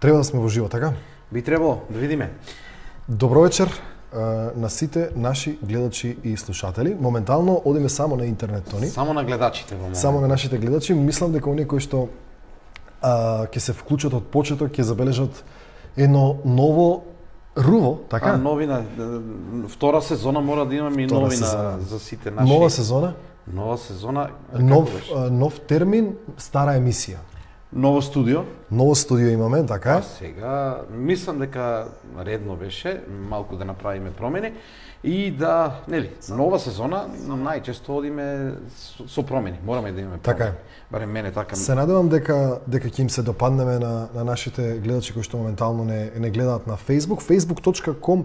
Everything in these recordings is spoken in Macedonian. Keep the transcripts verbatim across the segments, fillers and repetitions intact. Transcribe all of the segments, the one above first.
Треба да сме во живо, така? Би требало, да видиме. Добро вечер на сите наши гледачи и слушатели. Моментално одиме само на интернет, Тони. Само на гледачите во момент. Само на нашите гледачи. Мислам дека оние кои што а, ќе се вклучат од почеток ќе забележат едно ново руво, така? А, новина, втора сезона мора да имаме и Втора новина сезона. за сите наши. Нова сезона, Нова сезона. нов Како беше? а, нов термин, стара емисија. Ново студио. Ново студио имаме, така? А сега мислам дека редно беше малку да направиме промени и да, нели, нова сезона најчесто одиме со, со промени. Мораме да имаме промени. Така е. Барем мене така. Се надевам дека дека ќе им се допаднеме на на нашите гледачи кои што моментално не не гледаат на Facebook. facebook точка com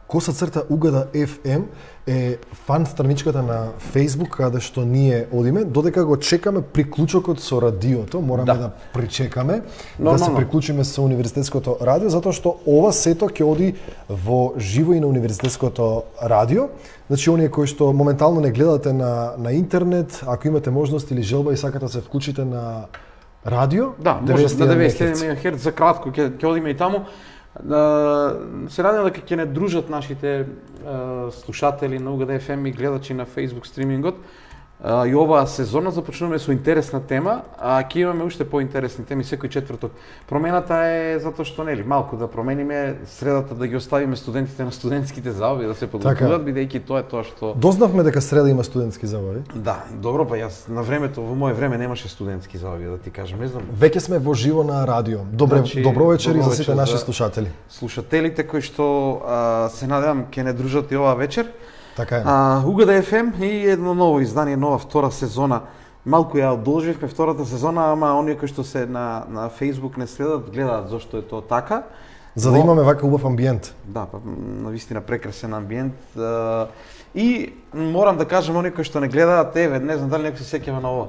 коса црта угада еф ем е фан страничката на Facebook каде што ние одиме, додека го чекаме приклучокот со радиото, мораме да, Да. да причекаме, да Нормално. се приклучиме со универзитетското радио, затоа што ова сето ќе оди во живо и на универзитетското радио. Значи, оние кои што моментално не гледате на, на интернет, ако имате можност или желба и сакате да се вклучите на радио, Да, може на деветдесет и еден мегахерц. мегахерц за кратко ќе ќе одиме и таму. Да, се радам дека ќе не дружат нашите е, слушатели на Угада еф ем и гледачи на Facebook стримингот. А, и оваа сезона започнуваме со интересна тема, а ќе имаме уште поинтересни теми секој четврток. Промената е затоа што нели малку да промениме средата, да ги оставиме студентите на студентските забави да се подготвуваат, бидејќи тоа е тоа што Дознавме дека среда има студентски забави. Да, добро, па јас на времето, во мое време немаше студентски забави, да ти кажам, не знам. Веќе сме во живо на радио. Добре, Значи, добро вечер и добро за сите вечер наши за- слушатели. Слушателите кои што а, се надевам ќе не дружат и оваа вечер. Така е. А, Угада еф ем и едно ново издание, нова втора сезона. Малку ја одолживме втората сезона, ама оние кои што се на на Facebook не следат, гледаат зошто е тоа така. За да Но- имаме вака убав амбиент. Да, па навистина прекрасен амбиент. А, и морам да кажам оние кои што не гледаат, еве, не знам дали некој се сеќава на ова.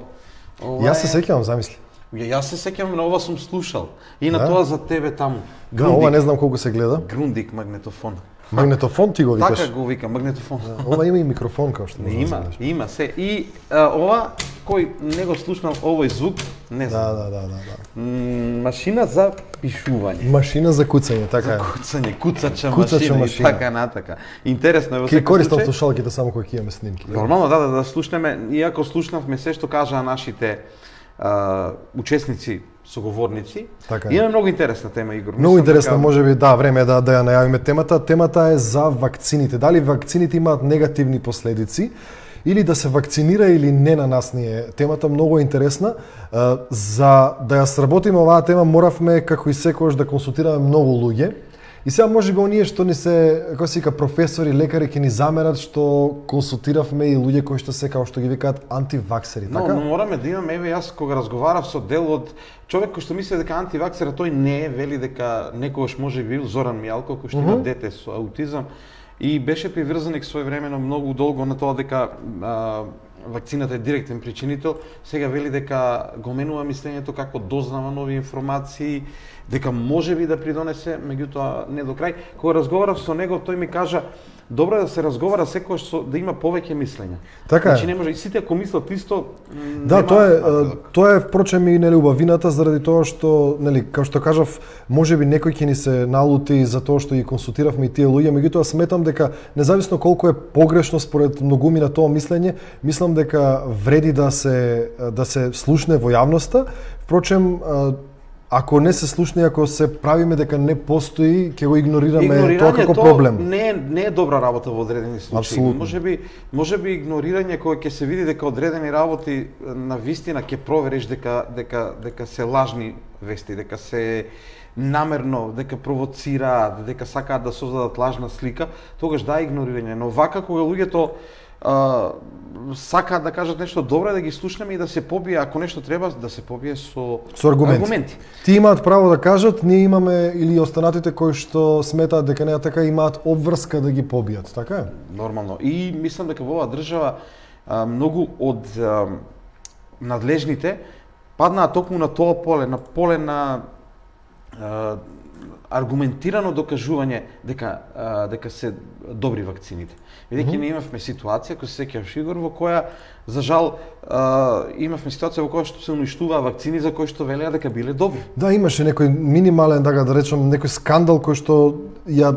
Ова Јас се е- сеќавам, замисли. Ја јас се сеќавам на ова, сум слушал. И на Да? тоа за тебе таму. Да, ова не знам колку се гледа. Грундик магнетофон. Магнетофон ти го викаш. Така го викам, магнетофон. Ова има и микрофон како што Не можеш да има, знаеш. има се. И а, ова, кој не го слушнал овој звук, не Да, знам. да, да, да, да. М, машина за пишување. Машина за куцање, така е. Куцање, куцача, Куцача машина, машина. и така натака. Интересно е во Ке секој користам случај. слушалките само кога ќе имаме снимки. Нормално да, да, да слушнеме, иако слушнавме се што кажаа нашите а, учесници, соговорници. Така е. Има многу интересна тема, Игор. Многу Мислам интересно, дека- можеби да, време е да да ја најавиме темата. Темата е за вакцините. Дали вакцините имаат негативни последици или да се вакцинира или не на нас ни е темата многу е интересна. Е, За да ја сработиме оваа тема моравме како и секогаш да консултираме многу луѓе. И сега можеби оние што ни се, како се вика, професори, лекари ќе ни замерат што консултиравме и луѓе кои што се како што ги викаат антиваксери, Но, така? но мораме да имаме, еве јас кога разговарав со дел од човек кој што мисли дека антиваксер, тој не е, вели дека некогаш може би бил Зоран Мијалко кој што има Мгм. дете со аутизам и беше приврзаник своевремено многу долго на тоа дека а, вакцината е директен причинител. Сега вели дека го менува мислењето како дознава нови информации, дека може би да придонесе, меѓутоа не до крај. Кога разговарав со него, тој ми кажа добро е да се разговара секогаш со да има повеќе мислења. Така е. Значи не може и сите ако мислат исто, м, Да, нема тоа е напредок. тоа е впрочем и нели убавината заради тоа што нели како што кажав, можеби некој ќе ни се налути за тоа што ги консултиравме и тие луѓе, меѓутоа сметам дека независно колку е погрешно според многумина тоа мислење, мислам дека вреди да се да се слушне во јавноста. Впрочем, ако не се слушне, ако се правиме дека не постои, ќе го игнорираме тоа како проблем. не е не е добра работа во одредени случаи. Апсолутно. Можеби можеби игнорирање кога ќе се види дека одредени работи на вистина ќе провериш дека дека дека се лажни вести, дека се намерно, дека провоцираат, дека сакаат да создадат лажна слика, тогаш да игнорирање. Но вака кога луѓето а, сакаат да кажат нешто добро, е да ги слушнеме и да се побие, ако нешто треба, да се побие со, Со аргументи. аргументи. Ти имаат право да кажат, ние имаме или останатите кои што сметаат дека не е така имаат обврска да ги побијат, така е? Нормално. И мислам дека во оваа држава а, многу од а, надлежните паднаа токму на тоа поле, на поле на а, аргументирано докажување дека а, дека се добри вакцините. Бидејќи mm -hmm. ние имавме ситуација, кој се сеќаваш Игор, во која за жал а, имавме ситуација во која што се уништуваа вакцини за кои што велеа дека биле добри. Да, имаше некој минимален, да да речем, некој скандал кој што ја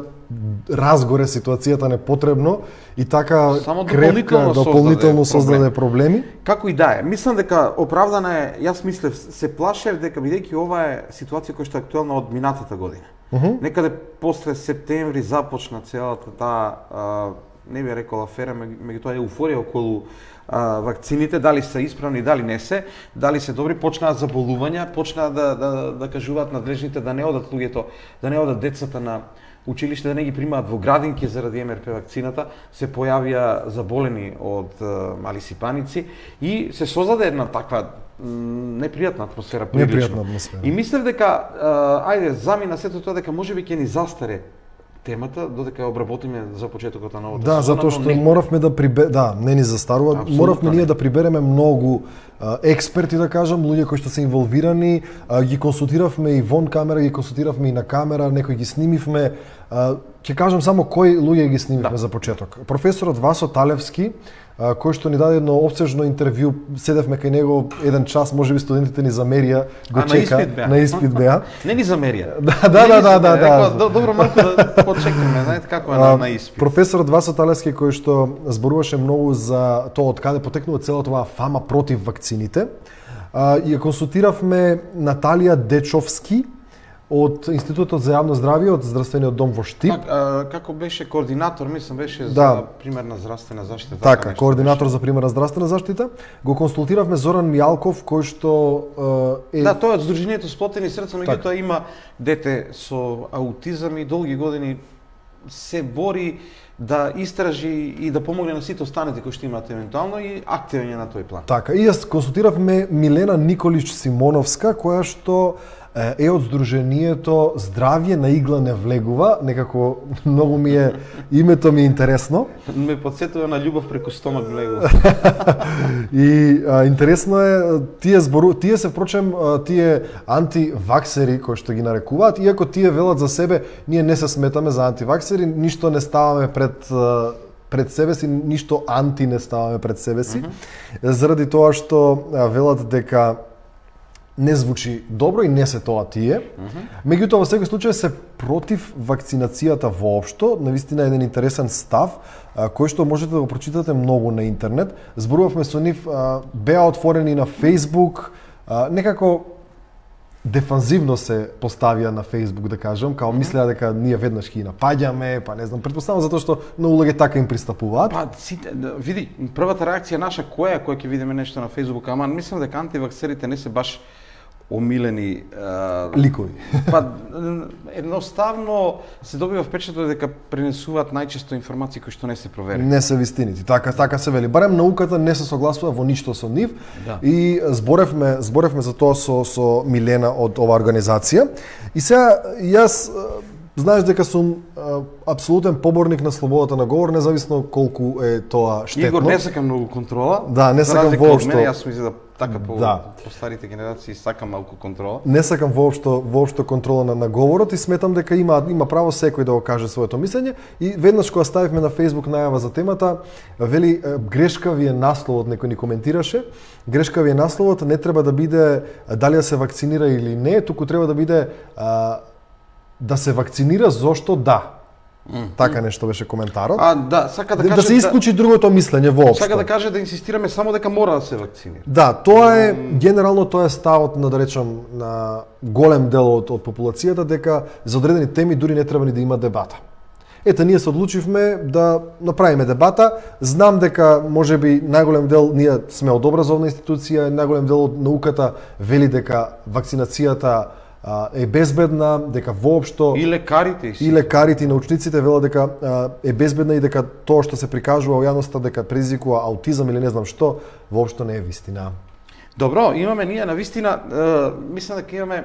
разгоре ситуацијата непотребно и така Само крепка дополнително создаде проблеми. Како и да е, мислам дека оправдана е, јас мислев, се плашев дека бидејќи ова е ситуација која што е актуелна од минатата година. Uh -huh. Некаде после септември започна целата таа, а, не би рекол афера, меѓутоа еуфорија околу а, вакцините, дали се исправни, дали не се, дали се добри, почнаа заболувања, почнаа да, да, да кажуваат надлежните да не одат луѓето, да не одат децата на училиште, да не ги примаат во градинки заради Ем Ер Пе вакцината, се појавија заболени од а, мали сипаници и се создаде една таква непријатна атмосфера прилично. Непријатна атмосфера. И мислев дека а, ајде замина сето тоа дека можеби ќе ни застаре темата додека ја обработиме за почетокот на новата да, сезона. Да, затоа што не... моравме да прибе... да, не ни застарува, Абсолютно моравме не. ние да прибереме многу а, експерти, да кажам, луѓе кои што се инволвирани, а, ги консултиравме и вон камера, ги консултиравме и на камера, некои ги снимивме. А, ќе кажам само кои луѓе ги снимивме Да. за почеток. Професорот Васо Талевски, а, кој што ни даде едно опсежно интервју, седевме кај него еден час, можеби студентите ни замерија, го А, на чека, испит беа. на испит беа. Не ни замерија. Да, да, да, да, да, да. Рекла, добро малку да почекаме, знаете како е на, на испит. Професорот Васо Талевски, кој што зборуваше многу за тоа од каде потекнува целата оваа фама против вакцините, а, ја консултиравме Наталија Дечовски од Институтот за јавно здравје од Здравствениот дом во Штип. Как, а, како беше координатор, мислам беше Да. за примерна здравствена заштита. Така, нешто координатор беше. за примерна здравствена заштита. Го консултиравме Зоран Мијалков, кој што е... Да, тоа е од Сдруженијето Сплотени срца, меѓутоа Така. има дете со аутизам и долги години се бори да истражи и да помогне на сите останати кои што имаат евентуално и активен е на тој план. Така, и јас консултиравме Милена Николич Симоновска, која што е од Сдруженијето Здравје на игла не влегува, некако многу ми е, името ми е интересно. Ме подсетува на љубов преку стомак влегува. И а, интересно е, тие збору, тие се впрочем, а, тие антиваксери кои што ги нарекуваат, иако тие велат за себе, ние не се сметаме за антиваксери, ништо не ставаме пред а, пред себе си, ништо анти не ставаме пред себе си, mm -hmm. заради тоа што а, велат дека не звучи добро и не се тоа тие. Mm -hmm. Меѓутоа, во секој случај се против вакцинацијата воопшто, навистина еден интересен став, а, кој што можете да го прочитате многу на интернет. Зборувавме со нив, а, беа отворени на Facebook, а, некако дефанзивно се поставија на Facebook, да кажам, као мислеа дека ние веднаш ќе ги напаѓаме, па не знам, претпоставам затоа што многу луѓе така им пристапуваат. Па, сите, да, види, првата реакција наша која е, која ќе видиме нешто на Facebook, ама мислам дека антиваксерите не се баш омилени а, ликови. Па едноставно се добива впечаток дека пренесуваат најчесто информации кои што не се проверени. Не се вистините. Така така се вели. Барем науката не се согласува во ништо со нив. Да. И зборевме, зборевме за тоа со со Милена од оваа организација. И сега јас знаеш дека сум а, апсолутен поборник на слободата на говор, независно колку е тоа штетно. Игор не сака многу контрола. Да, не сакам воопшто. Мене, јас мислам да така по, Да. по старите генерации сакам малку контрола. Не сакам воопшто воопшто контрола на, на говорот и сметам дека има има право секој да го каже своето мислење. И веднаш кога ставивме на Facebook најава за темата, вели грешка ви е насловот, некој ни коментираше. Грешка ви е насловот, не треба да биде дали да се вакцинира или не, туку треба да биде а, да се вакцинира зошто да. Mm. Така нешто беше коментарот. А, да, сака да, да, каже да се исклучи другото мислење воопшто. Сака да каже да инсистираме само дека мора да се вакцинира. Да, тоа е генерално тоа е ставот на, да речам, на голем дел од, од популацијата дека за одредени теми дури не треба ни да има дебата. Ете, ние се одлучивме да направиме дебата. Знам дека можеби најголем дел, ние сме од образовна институција, најголем дел од науката вели дека вакцинацијата а, е безбедна, дека воопшто И лекарите и, и лекарите и научниците велат дека а, е безбедна и дека тоа што се прикажува во јавноста дека предизвикува аутизам или не знам што, воопшто не е вистина. Добро, имаме ние на вистина, е, мислам дека имаме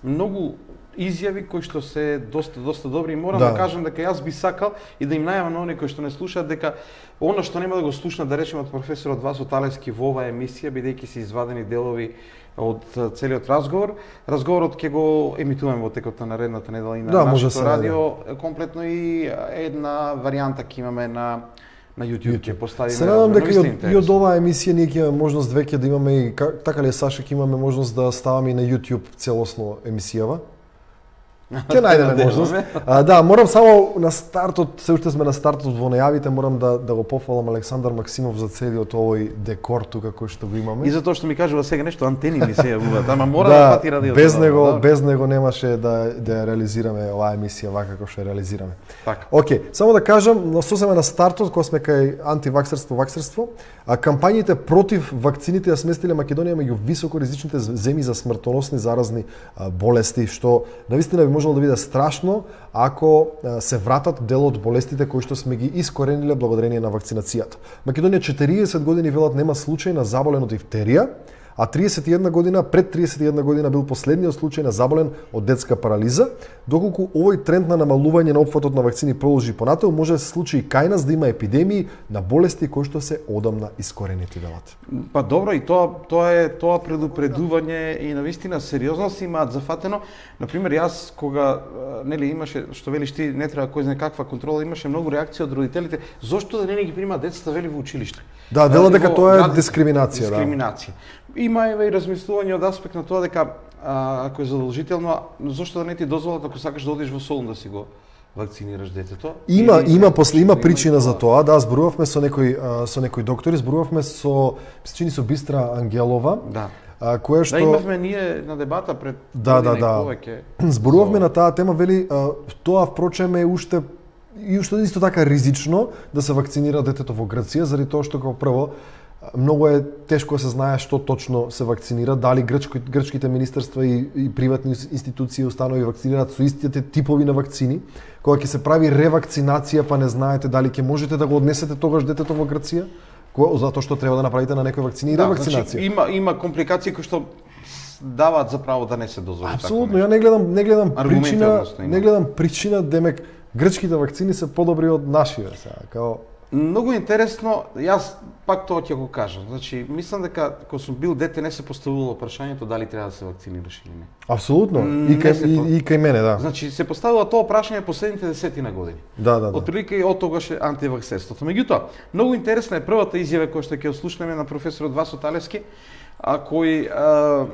многу изјави кои што се доста доста добри и морам Да. да, кажам дека јас би сакал и да им најавам на оние кои што не слушаат дека она што нема да го слушнат, да речеме, од професорот Васо Талевски во оваа емисија, бидејќи се извадени делови од целиот разговор, разговорот ќе го емитуваме во текот на наредната недела и на Да, може нашето се радио, комплетно и една варијанта ќе имаме на на YouTube, ќе поставиме. Се надам дека и од, и од интересно. оваа емисија ние ќе имаме можност веќе да имаме и ка- така ли е, Саша, ќе имаме можност да ставаме и на YouTube целосно емисијава. Ќе најдеме можност. А, да, морам само на стартот, се уште сме на стартот во најавите, морам да да го пофалам Александар Максимов за целиот овој декор тука кој што го имаме. И затоа што ми кажува сега нешто, антени ми се јавуваат, ама мора да, да фати радиото. без да, него, да. без него немаше да да ја реализираме оваа емисија вака како што ја реализираме. Така. Океј, само да кажам, на сосема на стартот, кога сме кај антиваксерство, ваксерство, а кампањите против вакцините ја сместиле Македонија меѓу високоризичните земји за смртоносни заразни а, болести, што навистина би можело да биде страшно ако а, се вратат дел од болестите кои што сме ги искорениле благодарение на вакцинацијата. Македонија четириесет години велат нема случај на заболен од дифтерија, а триесет и една година, пред триесет и една година бил последниот случај на заболен од детска парализа. Доколку овој тренд на намалување на опфатот на вакцини продолжи понатаму, може да се случи и кај нас да има епидемии на болести кои што се одамна искоренети, велат. Па добро, и тоа тоа е тоа предупредување и навистина сериозно си имаат зафатено. Например, јас кога а, нели имаше, што велиш ти, не треба кој знае каква контрола, имаше многу реакции од родителите, зошто да не ги примаат децата вели во училиште. Да, дела дека Во тоа е град- дискриминација, да. дискриминација. Има еве и размислување од аспект на тоа дека а, ако е задолжително, зошто да не ти дозволат ако сакаш да одиш во Солун да си го вакцинираш детето? Има Или- има после има и причина за тоа. тоа. Да, зборувавме со некои а, со некои доктори, зборувавме со се чини со Бистра Ангелова, Да. а, која што Да, имавме ние на дебата пред Да, да, година и да. повеќе. Зборувавме на таа тема, вели, а, тоа впрочем е уште и уште исто така ризично да се вакцинира детето во Грција, заради тоа што како прво многу е тешко да се знае што точно се вакцинира, дали грчки, грчките министерства и, и приватни институции и установи вакцинираат со истите типови на вакцини. Кога ќе се прави ревакцинација, па не знаете дали ќе можете да го однесете тогаш детето во Грција, кога, затоа што треба да направите на некои вакцини и Да, ревакцинација. значи, има има компликации кои што даваат за право да не се дозволи. Апсолутно, ја не гледам не гледам Аргументи, причина, односно, има. не гледам причина демек грчките вакцини се подобри од нашите сега, као Многу интересно, јас пак тоа ќе го кажам. Значи, мислам дека кога сум бил дете не се поставувало прашањето дали треба да се вакцинираш или не. апсолутно М, и не кај се и, по- и кај мене, да. Значи, се поставува тоа прашање последните десетина години. Да, да, да. Отприлика и од тогаш е антиваксерството. Меѓутоа, многу интересна е првата изјава која што ќе ослушнеме на професорот Васо Талевски, а кој а,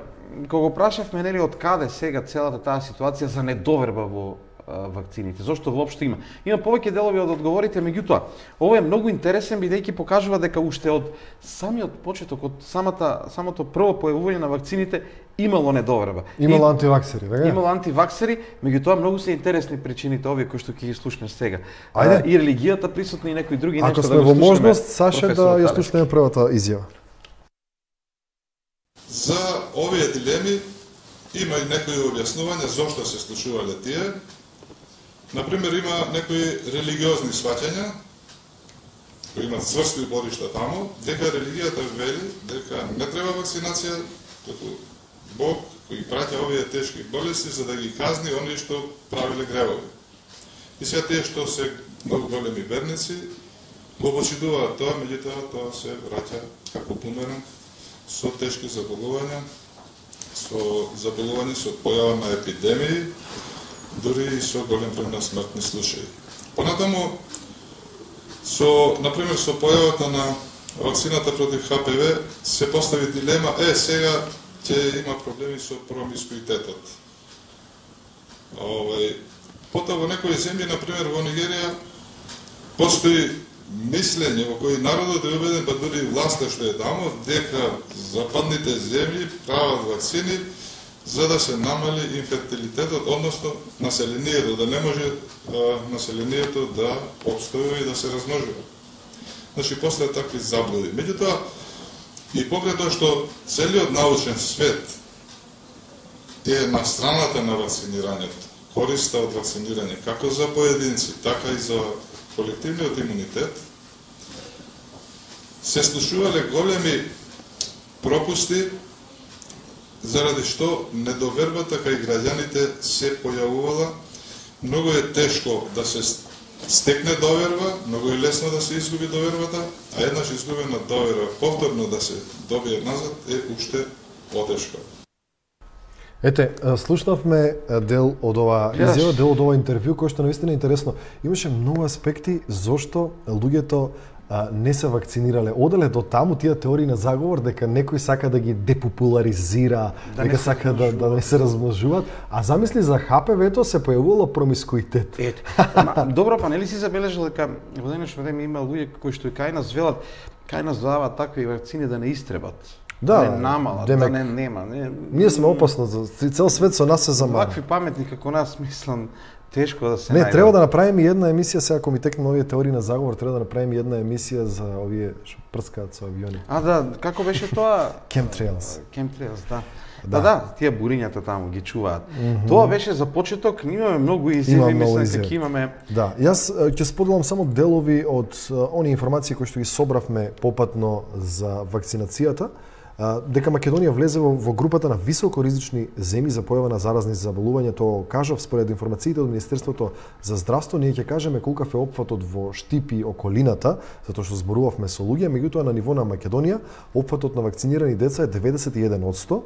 кога го прашавме нели од каде сега целата таа ситуација за недоверба во а, вакцините, зошто воопшто има. Има повеќе делови од одговорите, меѓутоа, ова е многу интересен бидејќи покажува дека уште од самиот почеток, од самата самото прво појавување на вакцините имало недоверба. Имало И- антиваксери, така? Имало антиваксери, меѓутоа многу се интересни причините овие кои што ќе ги слушнеш сега. Ајде. А, и религијата присутна и некои други Ако нешта сме да го во слушнеме, можност, Саше, да професорот ја Талевски. слушнеме првата изјава. За овие дилеми има и некои објаснувања зошто се случувале тие. Например, има некои религиозни сваќања кои имат цврсти упоришта таму, дека религијата вели дека не треба вакцинација, како Бог кој праќа овие тешки болести за да ги казни оние што правиле гревови. И сега тие што се многу големи верници го почитуваат тоа, меѓутоа тоа се враќа како бумеранг со тешки заболувања, со заболување со појава на епидемии, дури и со голем број на смртни случаи. Понатаму, со, например, со појавата на вакцината против Х П В се постави дилема, е, сега ќе има проблеми со промискуитетот. Овај, потоа во некои земји, например во Нигерија, постои мислење во кој народот е убеден, па дури и власта што е таму, дека западните земји прават вакцини за да се намали инфертилитетот, односно населението, да не може а, населението да обстојува и да се размножува. Значи, постојат такви заблуди. Меѓутоа, и покрај тоа што целиот научен свет е на страната на вакцинирањето, користа од вакцинирање, како за поединци, така и за колективниот имунитет, се случувале големи пропусти заради што недовербата кај граѓаните се појавувала. Многу е тешко да се стекне доверба, многу е лесно да се изгуби довербата, а еднаш изгубена доверба повторно да се добие назад е уште потешко. Ете, слушнавме дел од ова изјава, дел од ова интервју, кој што наистина е интересно. Имаше многу аспекти зошто луѓето а, не се вакцинирале. Оделе до таму тие теории на заговор дека некој сака да ги депопуларизира, да дека сака да, да не се размножуваат, а замисли за Х П В-то се појавувало промискуитет. Ете. Ама, добро, па нели си забележал дека во денешно време има луѓе кои што и кај нас велат, кај нас даваат такви вакцини да не истребат. Да, да не намалат, демек, да не нема. Не, ние сме опасно, за цел свет со нас се замара. Вакви паметни како нас, мислам, тешко да се Не, најдат. треба да направиме една емисија, сега ако ми текнат овие теории на заговор, треба да направиме една емисија за овие што прскаат со авиони. А да, како беше тоа? Chemtrails. Chemtrails, да. Да. Да, да, тие бурињата таму ги чуваат. Mm -hmm. Тоа беше за почеток, ние имаме многу изјави, мислам дека имаме. Да, јас ќе споделам само делови од они информации кои што ги собравме попатно за вакцинацијата. Дека Македонија влезе во, во групата на високоризични земји за појава на заразни заболувања, тоа кажав според информациите од Министерството за здравство, ние ќе кажеме колкав е опфатот во Штип и околината, затоа што зборувавме со луѓе, меѓутоа на ниво на Македонија опфатот на вакцинирани деца е деветдесет и еден одсто,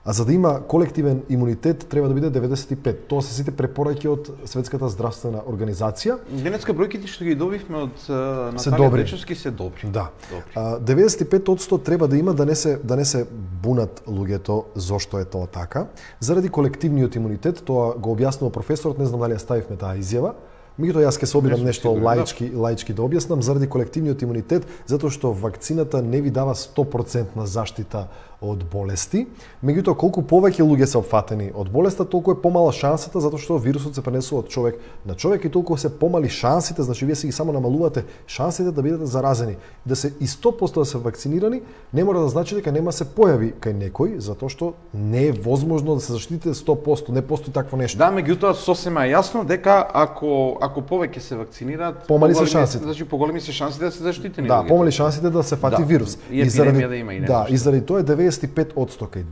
а за да има колективен имунитет треба да биде деветдесет и пет. Тоа се сите препораки од Светската здравствена организација. Денеска бројките што ги добивме од Наталија Дечовски се добри. Да. Добри. деветдесет и пет одсто треба да има да не се да не се бунат луѓето зошто е тоа така. Заради колективниот имунитет, тоа го објаснува професорот, не знам дали ја ставивме таа изјава. Меѓутоа јас ќе се обидам нешто лаички, лаички да објаснам, заради колективниот имунитет, затоа што вакцината не ви дава сто процентна заштита од болести. Меѓутоа, колку повеќе луѓе се опфатени од болеста, толку е помала шансата, затоа што вирусот се пренесува од човек на човек и толку се помали шансите, значи вие си ги само намалувате шансите да бидете заразени. Да се и сто проценти да се вакцинирани, не мора да значи дека нема се појави кај некој, затоа што не е возможно да се заштитите сто проценти, не постои такво нешто. Да, меѓутоа сосема е јасно дека ако ако повеќе се вакцинираат, помали се шансите. Значи поголеми се шансите да се заштитени. Да, помали шансите да се фати да, вирус. И, и заради да има и да, и заради тоа е деветдесет и пет одсто кај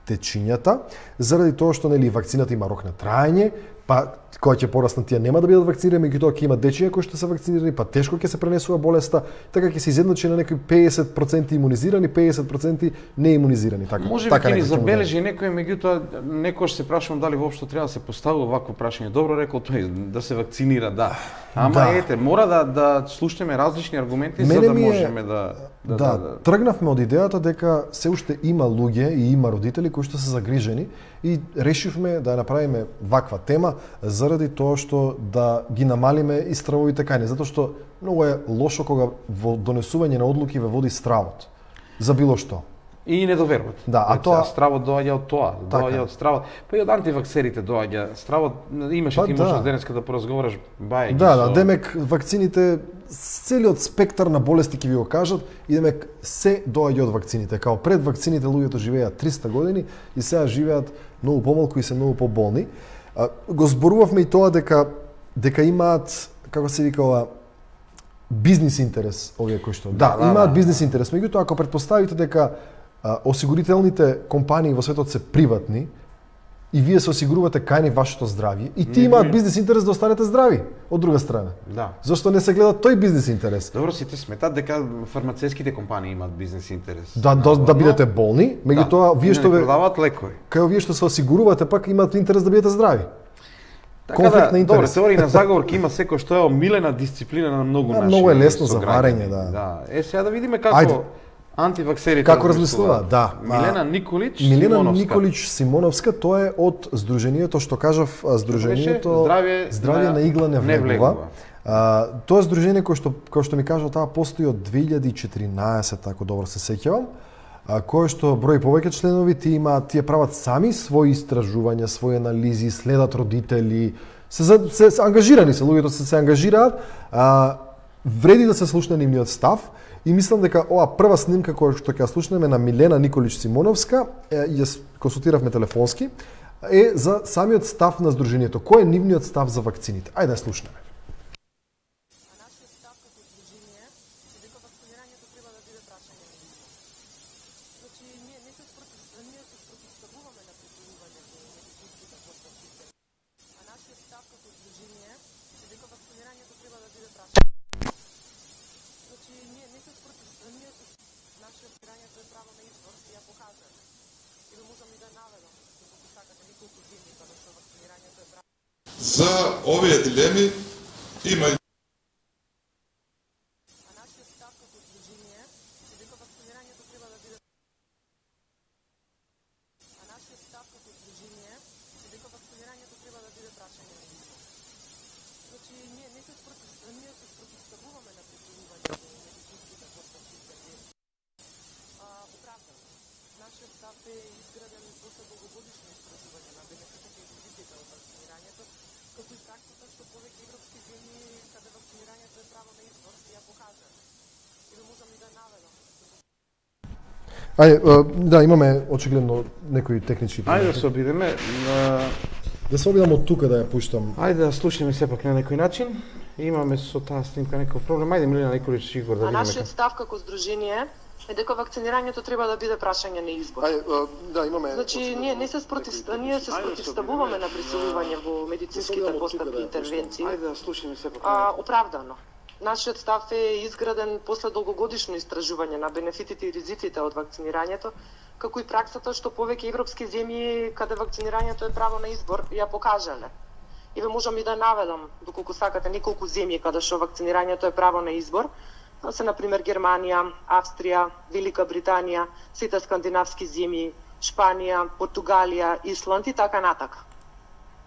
течињата, заради тоа што нели вакцината има рок на траење, па кога ќе пораснат тие нема да бидат вакцинирани, меѓутоа ќе има дечиња кои што се вакцинирани, па тешко ќе се пренесува болеста, така ќе се изедначи на некои педесет проценти имунизирани, педесет проценти неимунизирани, така. Може би така ќе ни забележи некој, меѓутоа некош се прашувам дали воопшто треба да се поставува вакво прашање. Добро рекол тој да се вакцинира, да. Ама да. Ете, мора да да слушнеме различни аргументи Мене за да е... можеме да Да, да, да, тргнавме од идејата дека се уште има луѓе и има родители кои што се загрижени и решивме да ја направиме ваква тема заради тоа што да ги намалиме и стравовите кај не, затоа што многу е лошо кога во донесување на одлуки ве води стравот за било што. И недовербата. Да, а тоа стравот доаѓа од тоа, така. доаѓа од стравот. Па и од антиваксерите доаѓа стравот. Имаше па, ти можеш да. денеска да поразговараш бајки. Да, со... да, демек вакцините целиот спектар на болести ќе ви го кажат и демек се доаѓа од вакцините. Као пред вакцините луѓето живеат триста години и сега живеат многу помалку и се многу поболни. А, го зборувавме и тоа дека дека имаат, како се вика ова, бизнис интерес овие кои што. Да, да имаат да, бизнис интерес. Меѓутоа ако претпоставите дека а, осигурителните компании во светот се приватни и вие се осигурувате кај нив вашето здравје и ти имаат бизнис интерес да останете здрави од друга страна. Да. Зошто не се гледа тој бизнис интерес? Добро, сите сметат дека фармацевските компании имаат бизнис интерес. Да, да, да бидете болни, меѓутоа да, вие што ве продаваат лекови. Кај вие што се осигурувате пак имаат интерес да бидете здрави. Така да, добро, теорија на заговор ќе има секој што е омилена дисциплина на многу да, наши. Многу е лесно за варење, да. Да. Е сега да видиме како Ајде. антиваксерите како размислува, да. Милена Николич Милена Симоновска. Николич Симоновска, тоа е од здруженијето што кажав, здруженијето Здравје, Здравје на, на игла не влегува. Не влегува. А, тоа е здружение кој што кој што ми кажа таа постои од две илјади и четиринаесета, ако добро се сеќавам. А, кој што број повеќе членови, тие имаат, тие прават сами своји истражувања, своји анализи, следат родители, се, се, се ангажирани се, луѓето се се ангажираат, а, вреди да се слушне нивниот став и мислам дека ова прва снимка која што ќе ја слушнеме на Милена Николич Симоновска, ја консултиравме телефонски, е за самиот став на здруженијето. Кој е нивниот став за вакцините? Ајде да ја слушнеме. Ние не се спротивставуваме За овие дилеми има и Ајде, да, имаме очигледно некои технички проблеми. Ајде да се обидеме. Да се обидам од тука да ја пуштам. Ајде да слушаме сепак на некој начин. Имаме со таа снимка некој проблем. Ајде Милена Николич Игор да видиме. А нашиот став како здружение е дека вакцинирањето треба да биде прашање на избор. Ајде, да, имаме. Значи ние не се спротив, ние се спротивставуваме на присилување во медицинските постапки и интервенции. Ајде да слушаме сепак. А оправдано. Нашиот став е изграден после долгогодишно истражување на бенефитите и ризиците од вакцинирањето, како и праксата што повеќе европски земји каде вакцинирањето е право на избор ја покажале. И ве можам и да наведам, доколку сакате, неколку земји каде што вакцинирањето е право на избор, се на пример Германија, Австрија, Велика Британија, сите скандинавски земји, Шпанија, Португалија, Исланд и така натака.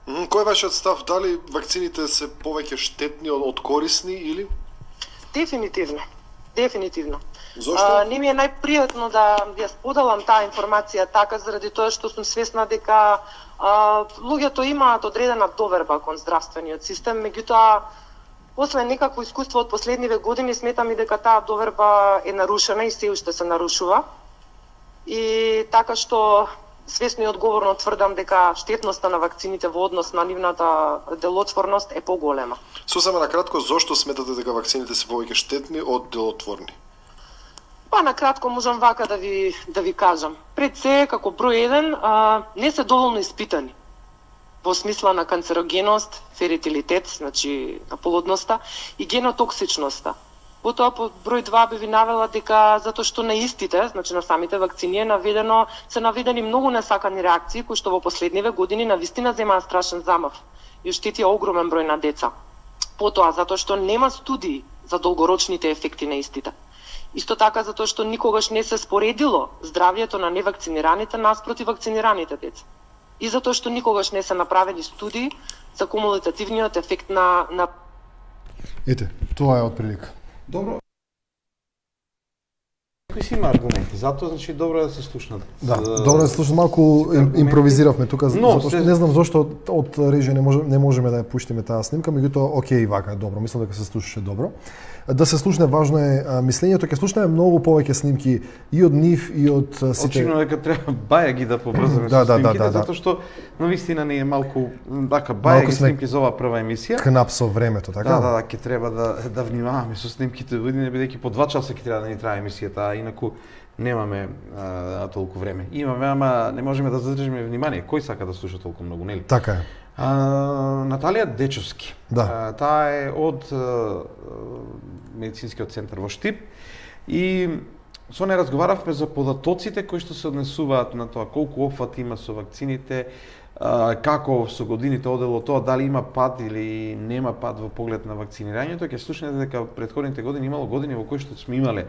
Кој е вашиот став? Дали вакцините се повеќе штетни од корисни или? Дефинитивно. Дефинитивно. Зошто? А, не ми е најпријатно да ја споделам таа информација така заради тоа што сум свесна дека а, луѓето имаат одредена доверба кон здравствениот систем, меѓутоа после некакво искуство од последниве години сметам и дека таа доверба е нарушена и се уште се нарушува. И така што свесно и одговорно тврдам дека штетноста на вакцините во однос на нивната делотворност е поголема. Сосема на кратко, зошто сметате дека вакцините се повеќе штетни од делотворни? Па на кратко можам вака да ви да ви кажам. Пред се како број еден а, не се доволно испитани во смисла на канцерогеност, феритилитет, значи на плодноста и генотоксичноста. Потоа по број два би ви навела дека затоа што на истите, значи на самите вакцини е наведено, се наведени многу несакани реакции кои што во последниве години навистина земаа страшен замав и оштетија огромен број на деца. Потоа затоа што нема студии за долгорочните ефекти на истите. Исто така затоа што никогаш не се споредило здравјето на невакцинираните наспроти вакцинираните деца. И затоа што никогаш не се направени студии за кумулативниот ефект на на Ете, тоа е отприлика. Добро. Кои си има аргументи, затоа значи добро е да се слушнат. Да, добро е да се слушнат, малку импровизиравме тука, Но, затоа што не знам зошто од, од режија не можеме не можеме да ја пуштиме таа снимка, меѓутоа окей, вака е добро, мислам дека се слушаше добро. Да се слушне, важно е мислењето, ќе слушнеме многу повеќе снимки и од нив и од сите. Очигледно дека треба баја ги да побрзаме да, со да, снимките, да, да, да. затоа што на вистина не е малку така баја ги снимки за оваа прва емисија. Кнап со времето, така? Да, да, да, ќе треба да да внимаваме со снимките, бидејќи по два часа ќе треба да ни трае емисијата, а инаку немаме а, толку време. Имаме, ама не можеме да задржиме внимание. Кој сака да слуша толку многу, нели? Така е. А, Наталија Дечовски. Да. А, таа е од а, медицинскиот центар во Штип и со неја разговаравме за податоците кои што се однесуваат на тоа колку опфат има со вакцините, а, како со годините одело тоа, дали има пад или нема пад во поглед на вакцинирањето. Ќе слушнете дека претходните години имало години во кои што сме имале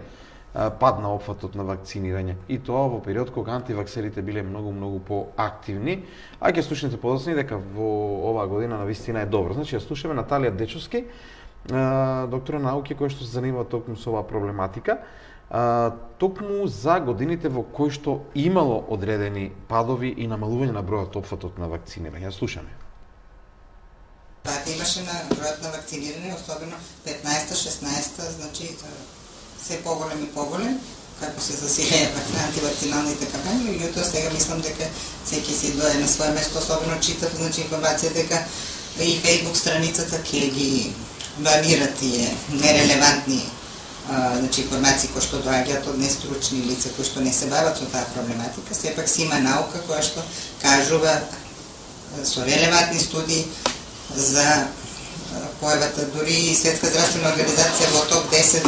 пад на опфатот на вакцинирање. И тоа во период кога антиваксерите биле многу многу поактивни, а ќе слушнете подоцни дека во оваа година навистина е добро. Значи ја слушаме Наталија Дечовски, доктор на науки кој што се занимава токму со оваа проблематика, токму за годините во кои што имало одредени падови и намалување на бројот опфатот на вакцинирање. Ја слушаме. Пат имаше на бројот на вакцинирање, особено петнаесета шеснаесета, значи се поголем и поголем, како се засилеја антивакциналните кампањи, меѓутоа сега мислам дека секи си дое на свое место, особено читав значи информација дека и Facebook страницата ќе ги банира тие нерелевантни а, значи информации кои што доаѓаат од нестручни лица кои што не се бават со таа проблематика. Сепак си има наука која што кажува со релевантни студии за појавата, дури и Светска здравствена организација во топ десет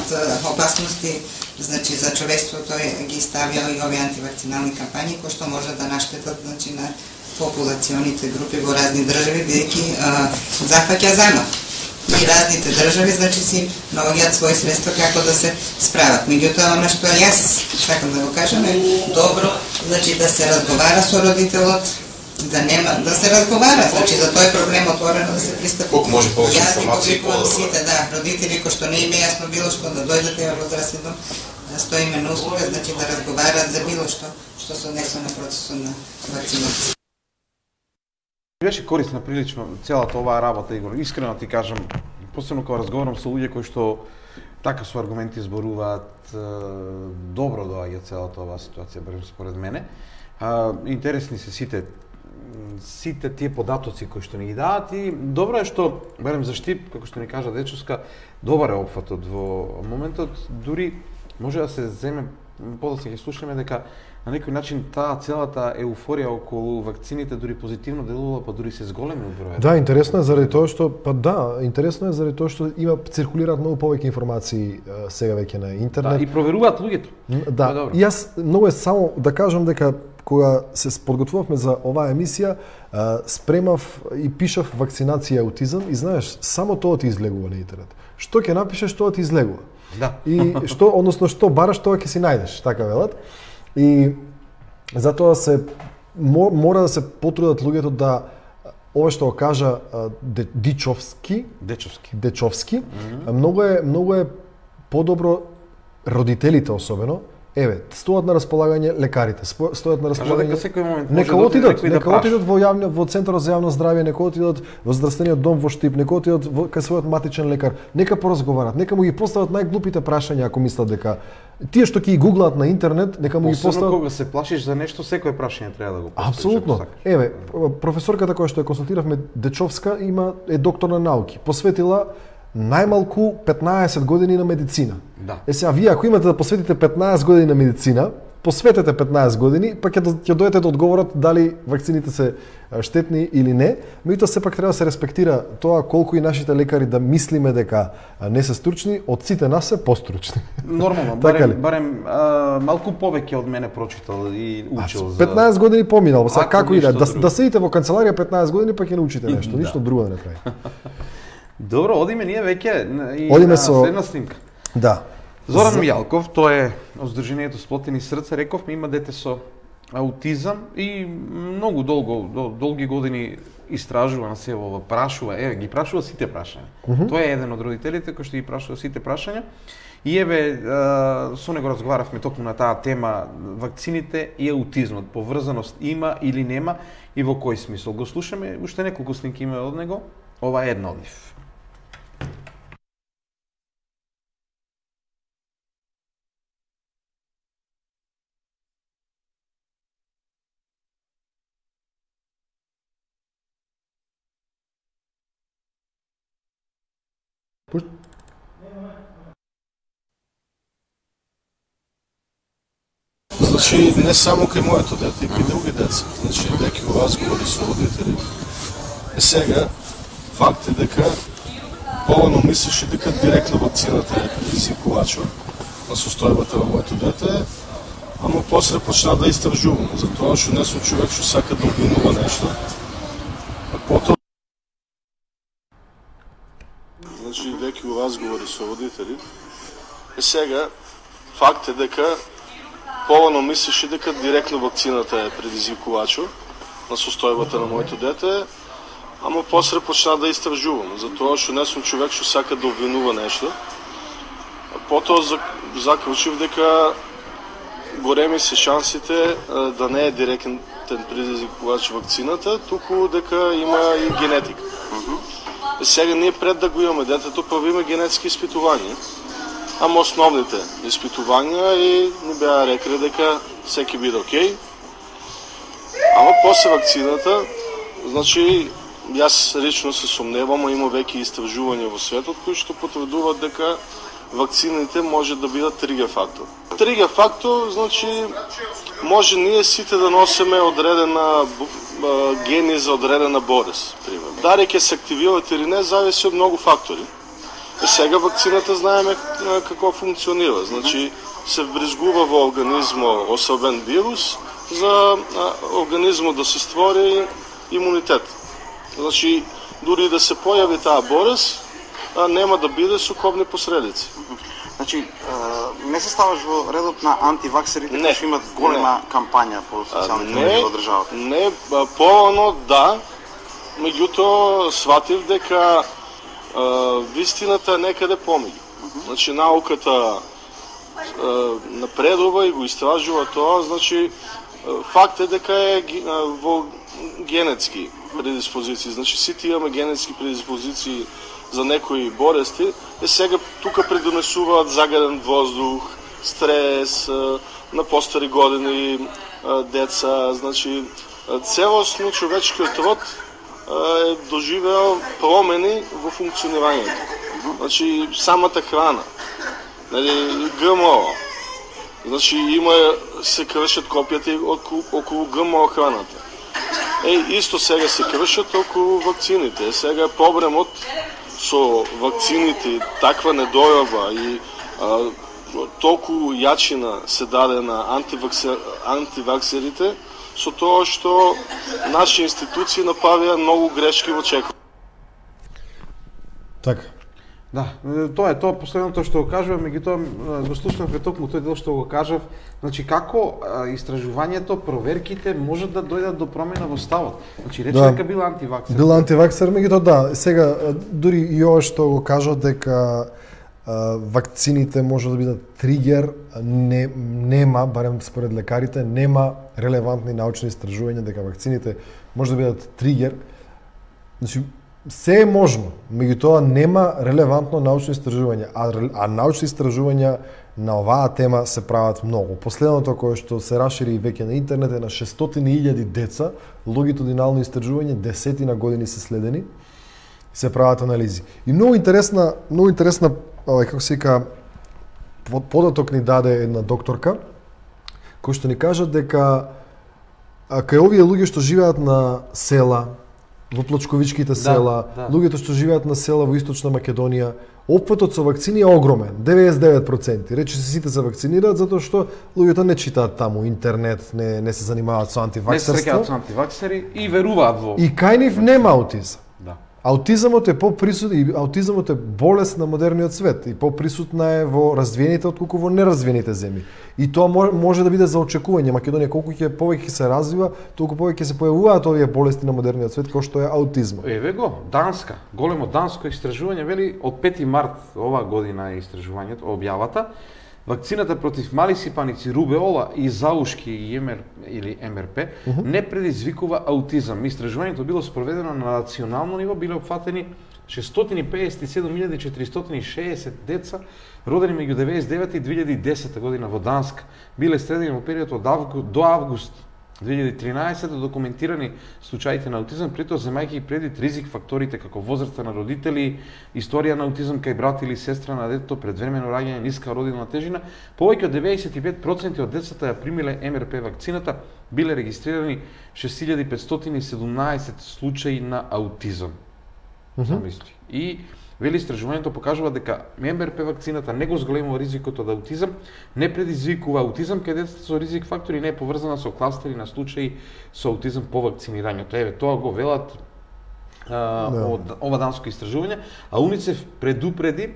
опасности, значи за човештвото ги ставија и овие антивакцинални кампањи кои што може да наштетат значи на популационите групи во разни држави, бидејќи зафаќа замав. И разните држави, значи, си наоѓаат своји средства како да се справат. Меѓутоа, она што јас сакам да го кажам е добро, значи, да се разговара со родителот, да нема, да се разговара, значи, за тој проблем отворено да се пристапи. Колку може повеќе информации, по сите, да, родители кои што не им е јасно било што да дојдат во здравствен дом, да стоиме на услуга, значи, да разговараат за било што што се однесува на процесот на вакцинација. Беше корисна прилично целата оваа работа, Игор. Искрено ти кажам, посебно кога разговарам со луѓе кои што така со аргументи зборуваат, добро доаѓа целата оваа ситуација, барем според мене. Интересни се сите сите тие податоци кои што ни ги даваат и добро е што, барем за Штип, како што ни кажа Дечовска, добар е опфатот во моментот, дури може да се земе, подоцна ќе слушаме дека на некој начин таа целата еуфорија околу вакцините дури позитивно делува, па дури се зголеми бројот. Да, интересно е заради тоа што, па да, интересно е заради тоа што има циркулираат многу повеќе информации сега веќе на интернет. Да, и проверуваат луѓето. Да, да и јас многу е само да кажам дека кога се подготвувавме за оваа емисија, спремав и пишав вакцинација аутизам и знаеш, само тоа ти излегува на интернет. Што ќе напишеш, тоа ти излегува. Да. И што, односно што бараш, тоа ќе си најдеш, така велат. И затоа се мора да се потрудат луѓето да ова што го кажа Дичовски, Дечовски, Дечовски, mm-hmm. многу е многу е подобро родителите особено. Еве, стојат на располагање лекарите, стојат на располагање. Кажа дека секој момент може да отидат, да нека отидат во јавно во центарот за јавно здравје, нека отидат во здравствениот дом во Штип, нека отидат во кај својот матичен лекар, нека поразговарат, нека му ги постават најглупите прашања ако мислат дека тие што ќе ги гуглаат на интернет, нека му ги постават. Кога се плашиш за нешто, секое прашање треба да го поставиш. Апсолутно. Еве, професорката која што ја консултиравме, Дечовска, има е доктор на науки. Посветила најмалку петнаесет години на медицина. Да. Е сега, вие ако имате да посветите петнаесет години на медицина, посветете петнаесет години, па ќе ќе дојдете до одговорот дали вакцините се штетни или не, меѓутоа сепак треба да се респектира тоа колку и нашите лекари да мислиме дека не се стручни, од сите нас се постручни. Нормално, барем, барем а, малку повеќе од мене прочитал и учил за петнаесет години поминал, сега како и да, да, друго. да седите во канцеларија петнаесет години па ќе научите нешто, Да. ништо друго да не прави. Добро, одиме ние веќе и Одиме на со- следна снимка. Да. Зоран За- Мијалков, тој е од Сдруженијето Сплотени срца, рековме, има дете со аутизам и многу долго, дол- долги години истражува на себе, прашува, еве, ги прашува сите прашања. Мгм. Тој е еден од родителите кој што ги прашува сите прашања. И еве, а, со него разговаравме токму на таа тема, вакцините и аутизмот, поврзаност има или нема и во кој смисол. Го слушаме, уште неколку снимки има од него, ова е една од нив. Значи, не само кај моето дете, и кај други деца. Значи, веќе во разговори со родители. Е сега, факт е дека повано мислеше дека директно вакцината е предизвикувачот на состојбата на моето дете, ама после почна да истражувам, затоа што не сум човек што сака да обвинува нешто. А потоа Значи, веќе во разговори со родители. Е сега, факт е дека повано мислеше дека директно вакцината е предизвикувачот на состојбата на моето дете, ама после почна да истражувам, затоа што не сум човек што сака да обвинува нешто. А потоа заклучив дека големи се шансите а, да не е директен предизвикувач вакцината, туку дека има и генетика. Е, сега ние пред да го имаме детето, правиме генетски испитувања. Ама основните испитувања и ни беа рекли дека секи биде окей. Ама после вакцината, значи, јас лично се сомневам, а има веќе истражувања во светот кои што потврдуваат дека вакцините може да бидат тригер фактор. Тригер фактор, значи, може ние сите да носиме одредена гени за одредена болест, пример. Дали ќе се активираат или не, зависи од многу фактори. И сега вакцината знаеме како функционира. Значи, се вбризгува во организмо особен вирус, за а, организмот да се створи имунитет. Значи, дури да се појави таа болест, а, нема да биде со кобни последици. Значи, не се ставаш во редот на антиваксерите, кои што имат голема не. кампања по социјалните мрежи во државата? Не, порано да, меѓутоа сватив дека а, вистината е некаде помеѓу. Uh-huh. Значи, науката а, напредува и го истражува тоа, значи, факт е дека е а, во генетски предиспозиции. Значи, сите имаме генетски предиспозиции за некои болести, е сега тука предонесуваат загаден воздух, стрес, на постари години деца, значи целосно човечкиот род е доживеал промени во функционирањето. Значи самата храна, нели ГМО, значи има се кршат копијата околу, околу ГМО храната. Е, исто сега се кршат околу вакцините. Сега е проблемот со вакцините, таква недојава и а, толку јачина се даде на антиваксер, антиваксерите, со тоа што наши институции направија многу грешки во чекор. Така. Да, тоа е тоа последното што го кажувам, меѓутоа го слушнавме токму тој дел што го кажав, значи како истражувањето, проверките можат да дојдат до промена во ставот. Значи рече да. дека бил антиваксер. Бил антиваксер, меѓутоа да, сега дури и ова што го кажа дека а, вакцините може да бидат тригер, не нема, барем според лекарите, нема релевантни научни истражувања дека вакцините може да бидат тригер. Значи се е можно, меѓутоа нема релевантно научно истражување, а, а научни истражувања на оваа тема се прават многу. Последното кое што се расшири веќе на интернет е на шестстотини илјади деца, лонгитудинално истражување, десетина години се следени, се прават анализи. И многу интересна, многу интересна, како се вика, податок ни даде една докторка, кој што ни кажа дека кај овие луѓе што живеат на села, во плочковичките села, да, да. луѓето што живеат на села во Источна Македонија, опфатот со вакцини е огромен, деветдесет и девет проценти. Рече се сите се вакцинираат затоа што луѓето не читаат таму интернет, не не се занимаваат со антиваксерство. Не се среќаат со антиваксери и веруваат во. И кај нив нема аутизам. Да. Аутизамот е поприсутен и аутизамот е болест на модерниот свет и поприсутна е во развиените отколку во неразвиените земји. И тоа може да биде за очекување. Македонија колку ќе повеќе се развива, толку повеќе се појавуваат овие болести на модерниот свет како што е аутизмот. Еве го, Данска, големо данско истражување вели од пети март оваа година е истражувањето, објавата. Вакцината против мали сипаници, рубеола и заушки и МР или МРП uh -huh. не предизвикува аутизам. Истражувањето било спроведено на национално ниво, биле опфатени шестстотини педесет и седум илјади четиристотини и шеесет деца родени меѓу деветдесет и девета и две илјади и десета година во Данска. Биле следени во период од август до август две илјади и тринаесета документирани случаите на аутизам, при тоа земајќи предвид ризик факторите како возраста на родители, историја на аутизам кај брат или сестра на детето, предвремено раѓање, ниска родилна тежина, повеќе од деветдесет и пет проценти од децата ја примиле МРП вакцината, биле регистрирани шест илјади петстотини и седумнаесет случаи на аутизам. Замисли. И вели истражувањето покажува дека МРП вакцината не го зголемува ризикот од аутизам, не предизвикува аутизам кај децата со ризик фактори, не е поврзана со кластери на случаи со аутизам по вакцинирањето. Еве, тоа го велат а, да. од ова данско истражување, а УНИЦЕФ предупреди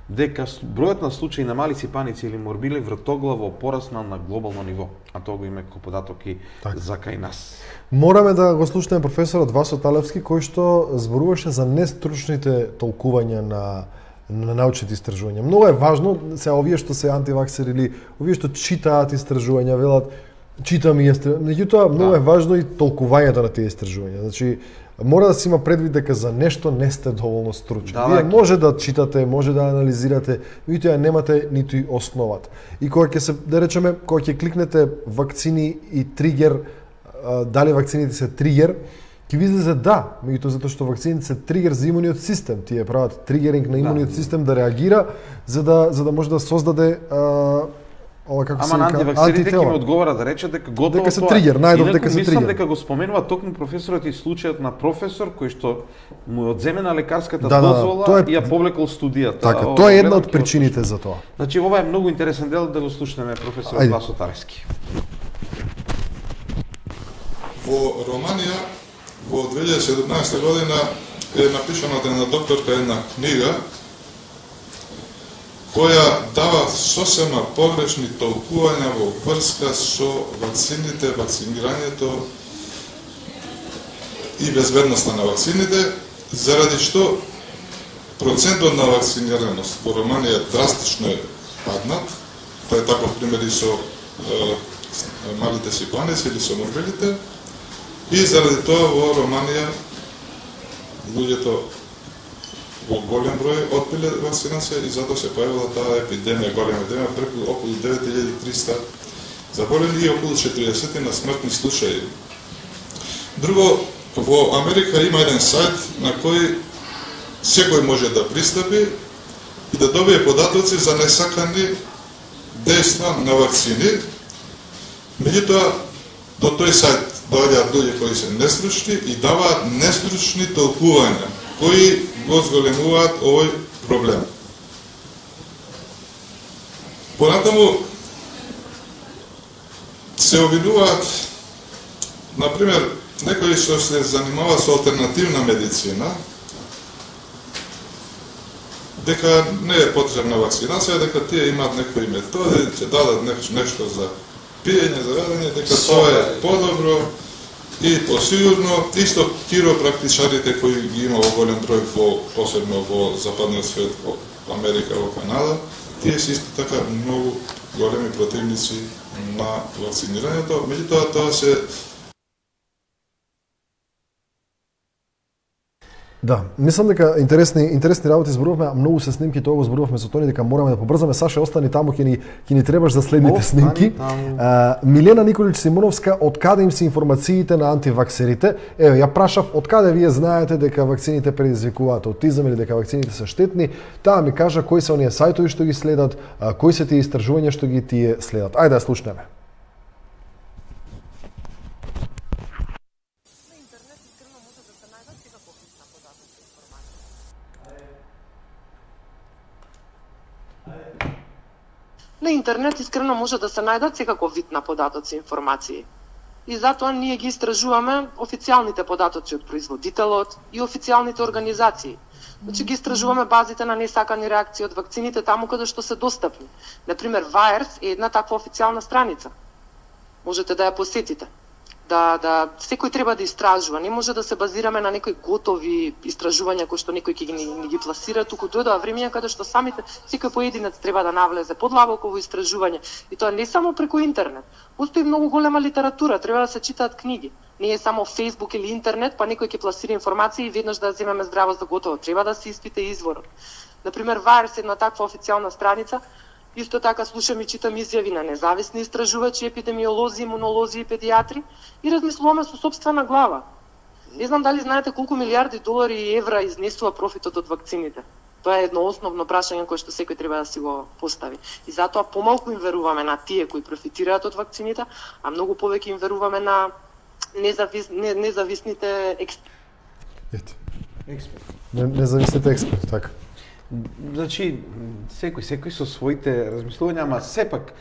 дека бројот на случаи на мали сипаници или морбили вртоглаво пораснал на глобално ниво, а тоа го има како податок и так. за кај нас. Мораме да го слушнеме професорот Васо Талевски, кој што зборуваше за нестручните толкувања на на научните истражувања. Многу е важно, се овие што се антиваксери или овие што читаат истражувања, велат читам и истражувања. Меѓутоа многу да. е важно и толкувањето на тие истражувања. Значи мора да се има предвид дека за нешто не сте доволно стручни. Да, Вие може да читате, може да анализирате, меѓутоа немате ниту и основата. И кога ќе се, да речеме, кога ќе кликнете вакцини и тригер, дали вакцините се тригер, ќе ви излезе да, меѓутоа затоа што вакцините се тригер за имуниот систем, тие прават тригеринг на имуниот да. систем да реагира за да за да може да создаде а, ова како се вика, антиваксерите ќе ме одговара да рече дека готово дека се тоа. Тригер, најдов дека се мислам тригер. дека го споменува токму професорот и случајот на професор кој што му одземена лекарската да, дозвола да, е... и ја повлекол студијата. Така, тоа е една од причините за тоа. Значи ова е многу интересен дел да го слушнеме професорот Васо Талевски. во Романија во две илјади и седумнаесета година е напишана од една докторка една книга која дава сосема погрешни толкувања во врска со вакцините, вакцинирањето и безбедноста на вакцините, заради што процентот на вакцинираност во Романија драстично е паднат. Тоа е таков пример и со е, малите сипанеци или со морбилите. И заради тоа во Романија луѓето во голем број отпиле вакцинација и затоа се појавила таа епидемија, голема епидемија, преку околу девет илјади и триста заболени и околу четириесет на смртни случаи. Друго, во Америка има еден сајт на кој секој може да пристапи и да добие податоци за несакани дејства на вакцини. Меѓутоа, до тој сајт доаѓаат луѓе кои се нестручни и даваат нестручни толкувања, кои го зголемуваат овој проблем. Понатаму се обвинуваат, например, некои што се занимава со алтернативна медицина, дека не е потребна вакцинација, дека тие имаат некои методи, ќе дадат нешто за пиење, за јадење, дека тоа е подобро и посигурно. Исто киропрактичарите кои ги има во голем број, во, посебно во западниот свет, во Америка, во Канада, тие се исто така многу големи противници на вакцинирањето. Меѓутоа, тоа се Да, мислам дека интересни интересни работи зборувавме, а многу се снимки, тоа го зборувавме со Тони дека мораме да побрзаме. Саше, остани таму, ќе ни ќе ни требаш за следните Остани снимки. таму. А, Милена Николич Симоновска, од каде им се информациите на антиваксерите? Еве, ја прашав од каде вие знаете дека вакцините предизвикуваат аутизам или дека вакцините се штетни. Таа ми кажа кои се оние сајтови што ги следат, а, кои се тие истражувања што ги тие следат. Ајде да слушнеме. На интернет искрено може да се најдат секаков вид на податоци и информации. И затоа ние ги истражуваме официјалните податоци од производителот и официјалните организации. Значи ги истражуваме базите на несакани реакции од вакцините таму каде што се достапни. Например, VAERS е една таква официјална страница. Можете да ја посетите. Да, да, секој треба да истражува. Не може да се базираме на некои готови истражувања кои што некој ќе ги, ни ги пласира, туку дојдоа времења каде што самите секој поединец треба да навлезе подлабоко во истражување. И тоа не само преку интернет. Постои многу голема литература, треба да се читаат книги. Не е само Facebook или интернет, па некој ќе пласира информации и веднаш да земеме здраво за готово. Треба да се испита изворот. Например, VAERS е една таква официјална страница. Исто така слушам и читам изјави на независни истражувачи, епидемиолози, имунолози и педиатри и размислуваме со сопствена глава. Не знам дали знаете колку милиарди долари и евра изнесува профитот од вакцините. Тоа е едно основно прашање кое што секој треба да си го постави. И затоа помалку им веруваме на тие кои профитираат од вакцините, а многу повеќе им веруваме на независ, не, независните експерти. Експерт. Независните експерти, така. Значи, секој, секој со своите размислувања, ама сепак,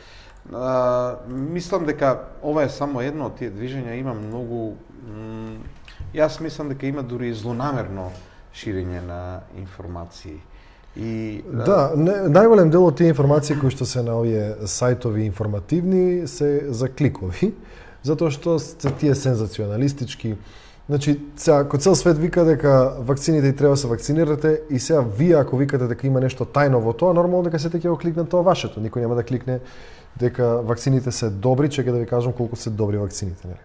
а, мислам дека ова е само едно од тие движења, има многу, м, јас мислам дека има дури злонамерно ширење на информации. И, Да, не, најголем дел од тие информации кои што се на овие сајтови информативни се за кликови, затоа што се тие сензационалистички. Значи, сега, кој цел свет вика дека вакцините и треба да се вакцинирате и сега вие ако викате дека има нешто тајно во тоа, нормално дека сите ќе го кликнат тоа вашето. Никој нема да кликне дека вакцините се добри, чека да ви кажам колку се добри вакцините, нели?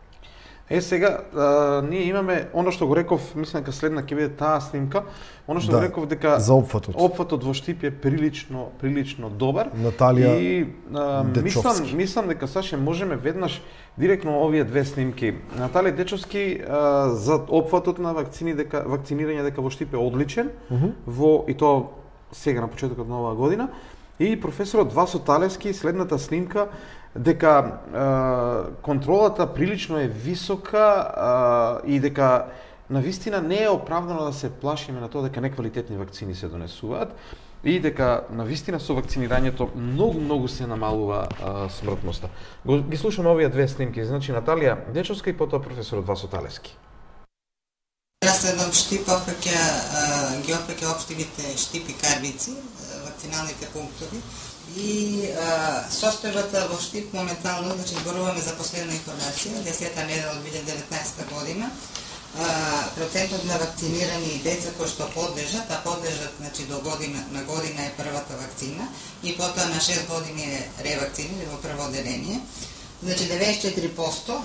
Е, сега, а, ние имаме, оно што го реков, мислам дека следна ќе биде таа снимка, оно што Да, го реков дека за опфатот. опфатот во Штип е прилично, прилично добар. Наталија И а, мислам, Дечовски. мислам дека Саше можеме веднаш директно овие две снимки. Наталија Дечовски а, за опфатот на вакцини дека вакцинирање дека во Штип е одличен, во и тоа сега на почетокот на оваа година. И професорот Васо Талевски, следната снимка, дека е, контролата прилично е висока е, и дека навистина не е оправдано да се плашиме на тоа дека неквалитетни вакцини се донесуваат. и дека навистина со вакцинирањето многу многу се намалува а, смртноста. Го, ги слушаме овие две снимки, значи Наталија Дечовска и потоа професорот Васо Талевски. Јас еден штип опаќа, ги опаќа општините штипи карбици, вакциналните пунктови, и а, состојбата во штип моментално, значи зборуваме за последна информација, десета недела од две илјади и деветнаесета година, а, процентот на вакцинирани деца кои што подлежат, а подлежат значи до година на година е првата вакцина и потоа на шест години е ревакцина или во прво одделение. Значи деветдесет и четири проценти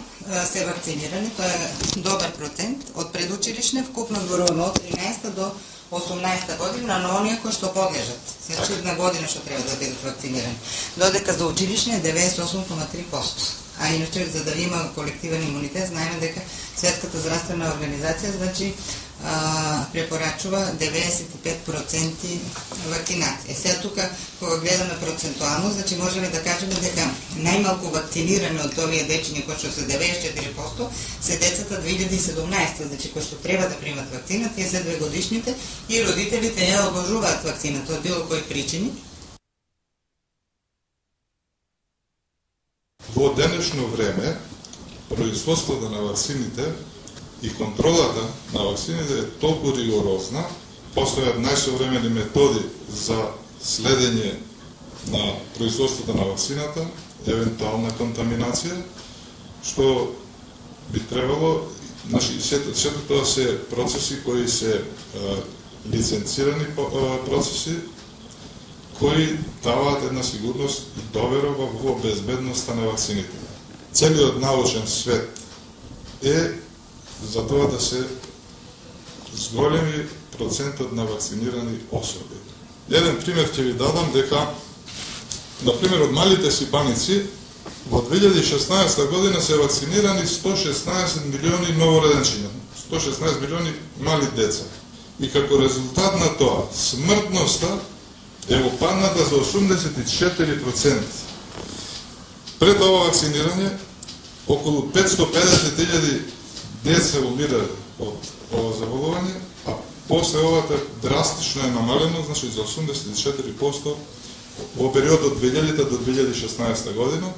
се вакцинирани, тоа е добар процент од предучилишне, вкупно зборуваме од тринаесета до осумнаесета година на оние кои што подлежат. Значи една година што треба да бидат вакцинирани. Додека за училишне е деветдесет и осум zarez три проценти. А иначе за да има колективен имунитет, знаеме дека Светската здравствена организација значи а, препорачува деветдесет и пет проценти вакцинација. Е сега тука кога гледаме процентуално, значи можеме да кажеме дека најмалку вакцинирани од овие дечиња кои што се деветдесет и четири проценти се децата две илјади и седумнаесета, значи кои што треба да примат вакцина, тие се две годишните и родителите ја одложуваат вакцината од било кои причини. Во денешно време, производството на вакцините и контролата на вакцините е толку ригорозна, постојат најсовремени методи за следење на производството на вакцината, евентуална контаминација, што би требало, значи, сето, сето тоа се процеси кои се е, лиценцирани процеси, кои даваат една сигурност и доверба во безбедноста на вакцините. Целиот научен свет е за тоа да се зголеми процентот на вакцинирани особи. Еден пример ќе ви дадам дека, например, од малите сипаници во две илјади и шеснаесета година се вакцинирани сто шеснаесет милиони новороденчиња, сто шеснаесет милиони мали деца. И како резултат на тоа, смртноста е опадната за осумдесет и четири проценти. Пред ова вакцинирање, околу петстотини и педесет илјади деца умирале од ова заболување, а после овата драстично е намалено, значи за осумдесет и четири проценти во периодот две илјадите до две илјади и шеснаесета година,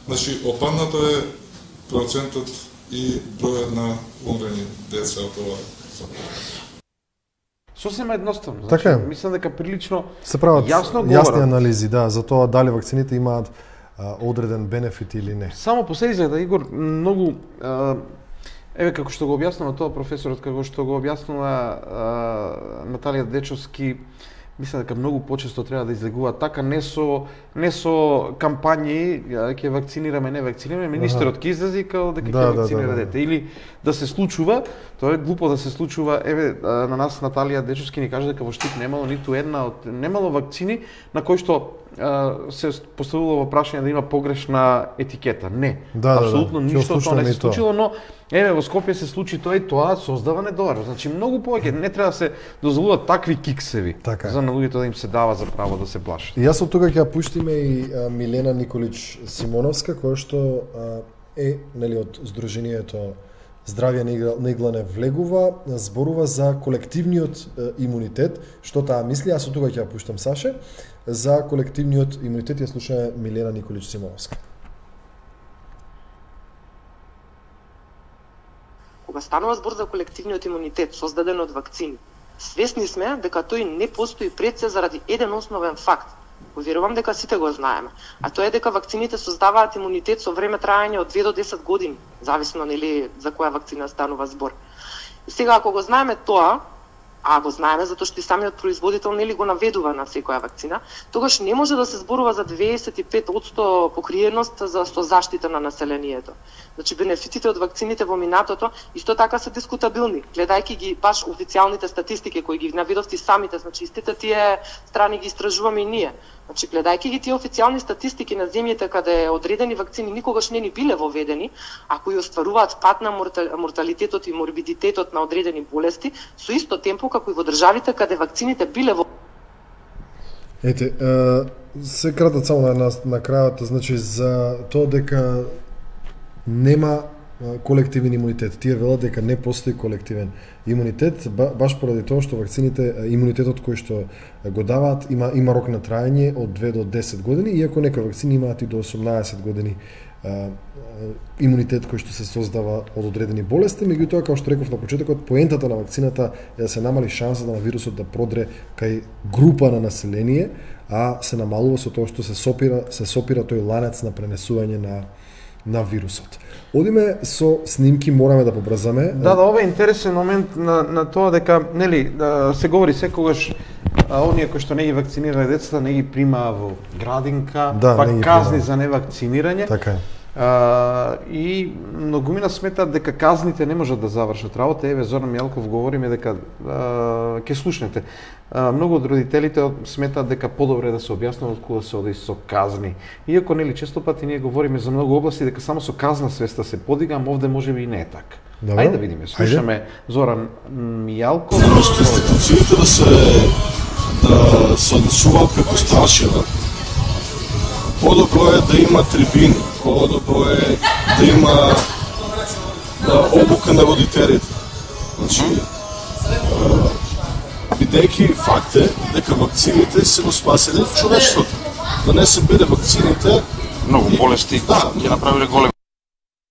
значи опаднато е процентот и бројот на умрени деца од ова заболување. Сосема едноставно. Значи, така е. Мислам дека прилично се прават јасно јасни говорат. анализи, да, за тоа дали вакцините имаат а, одреден бенефит или не. Само по себе да Игор многу а, еве како што го објаснува тоа професорот, како што го објаснува а, Наталија Дечовски, мислам дека многу почесто треба да излегува така, не со не со кампањи ќе вакцинираме, не вакцинираме, министерот ќе излезе као дека ќе Да, да, вакцинира да, да. дете, или да се случува, тоа е глупо да се случува. Еве на нас Наталија Дечовски ни каже дека во Штип немало ниту една од немало вакцини на кои што а, се поставило во прашање да има погрешна етикета. Не, Да, да, апсолутно да. ништо од тоа не Ни се тоа. случило, но еве во Скопје се случи тоа и тоа создава недовер. Значи многу повеќе не треба да се дозволуваат такви киксеви Така е. за на луѓето да им се дава за право да се плашат. И јас од тука ќе ја пуштиме и а, Милена Николич Симоновска, која што а, е нели од Сдруженијето Здравје на Иглане влегува, зборува за колективниот а, имунитет, што таа мисли, јас од тука ќе ја пуштам Саше, за колективниот имунитет ја слушаме Милена Николич Симоновска. Кога станува збор за колективниот имунитет создаден од вакцини, свесни сме дека тој не постои пред се заради еден основен факт. Поверувам дека сите го знаеме, а тоа е дека вакцините создаваат имунитет со време траење од две до десет години, зависно нели за која вакцина станува збор. И сега ако го знаеме тоа, а го знаеме затоа што и самиот производител нели го наведува на секоја вакцина, тогаш не може да се зборува за дваесет и пет проценти покриеност за со заштита на населението. Значи бенефитите од вакцините во минатото исто така се дискутабилни, гледајќи ги баш официјалните статистики кои ги наведовте самите, значи истите тие страни ги истражуваме и ние. Значи гледајќи ги тие официјални статистики на земјите каде одредени вакцини никогаш не ни биле воведени, а кои остваруваат пат на морталитетот и морбидитетот на одредени болести, со исто темпо како и во државите каде вакцините биле во Ете, е, се кратат само на, на, на крајот, значи за тоа дека нема колективен имунитет. Тие велат дека не постои колективен имунитет, баш поради тоа што вакцините, имунитетот кој што го даваат има има рок на траење од две до десет години, иако некои вакцини имаат и до осумнаесет години а, имунитет кој што се создава од одредени болести. Меѓутоа, како што реков на почетокот, поентата на вакцината е да се намали шансата на вирусот да продре кај група на население, а се намалува со тоа што се сопира, се сопира тој ланец на пренесување на на вирусот. Одиме со снимки, мораме да побрзаме. Да, да, ова е интересен момент на, на тоа дека, нели, да, се говори секогаш а, оние кои што не ги вакцинирале децата не ги примаа во градинка, да, па казни примаа за невакцинирање. Така е. А, и многумина сметаат дека казните не можат да завршат работа. Еве Зоран Мијалков говориме дека а, ќе слушнете. А, многу од родителите сметаат дека подобре да се објаснува откуда се оди со казни. Иако нели често пати ние говориме за многу области дека само со казна свеста се подига, ама овде можеби и не е така. Добро. Ајде да видиме. Слушаме Зоран Мијалков. Просто институциите да се да се однесуваат како страшила. Подобро е да има трибини, подобро е да има да, обука на родителите. Значи, бидејќи факт е дека вакцините се го спаселе човештвото. Да не се биде вакцините, многу болести да, ќе направиле големи.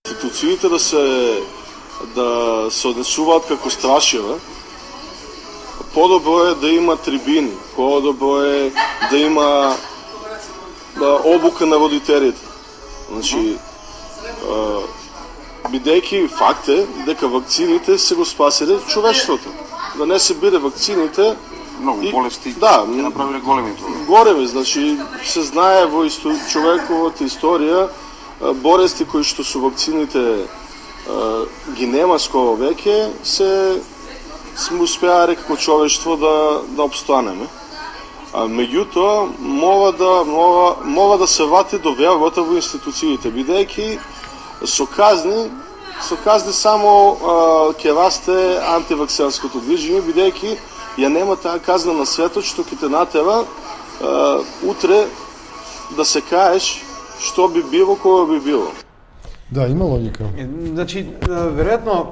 Институциите да се да се однесуваат како страшила. Подобро е да има трибини, подобро е да има да, обука на родителите. Значи, бидејќи факт е дека вакцините се го спаселе човештвото. Да не се биде вакцините, многу и, болести да, ќе направиле големи проблеми. Големи, значи се знае во исто, човековата историја болести кои што со вакцините ги нема скоро веќе, се сме успеале како човештво да да обстанеме. А меѓутоа мора да мора, мора да се вати до вербата во институциите, бидејќи со казни со казни само ќе расте антивакцинското движење, бидејќи ја нема таа казна на светот што ќе те натера а, утре да се каеш што би било кога би било. Да, има логика. Значи, веројатно,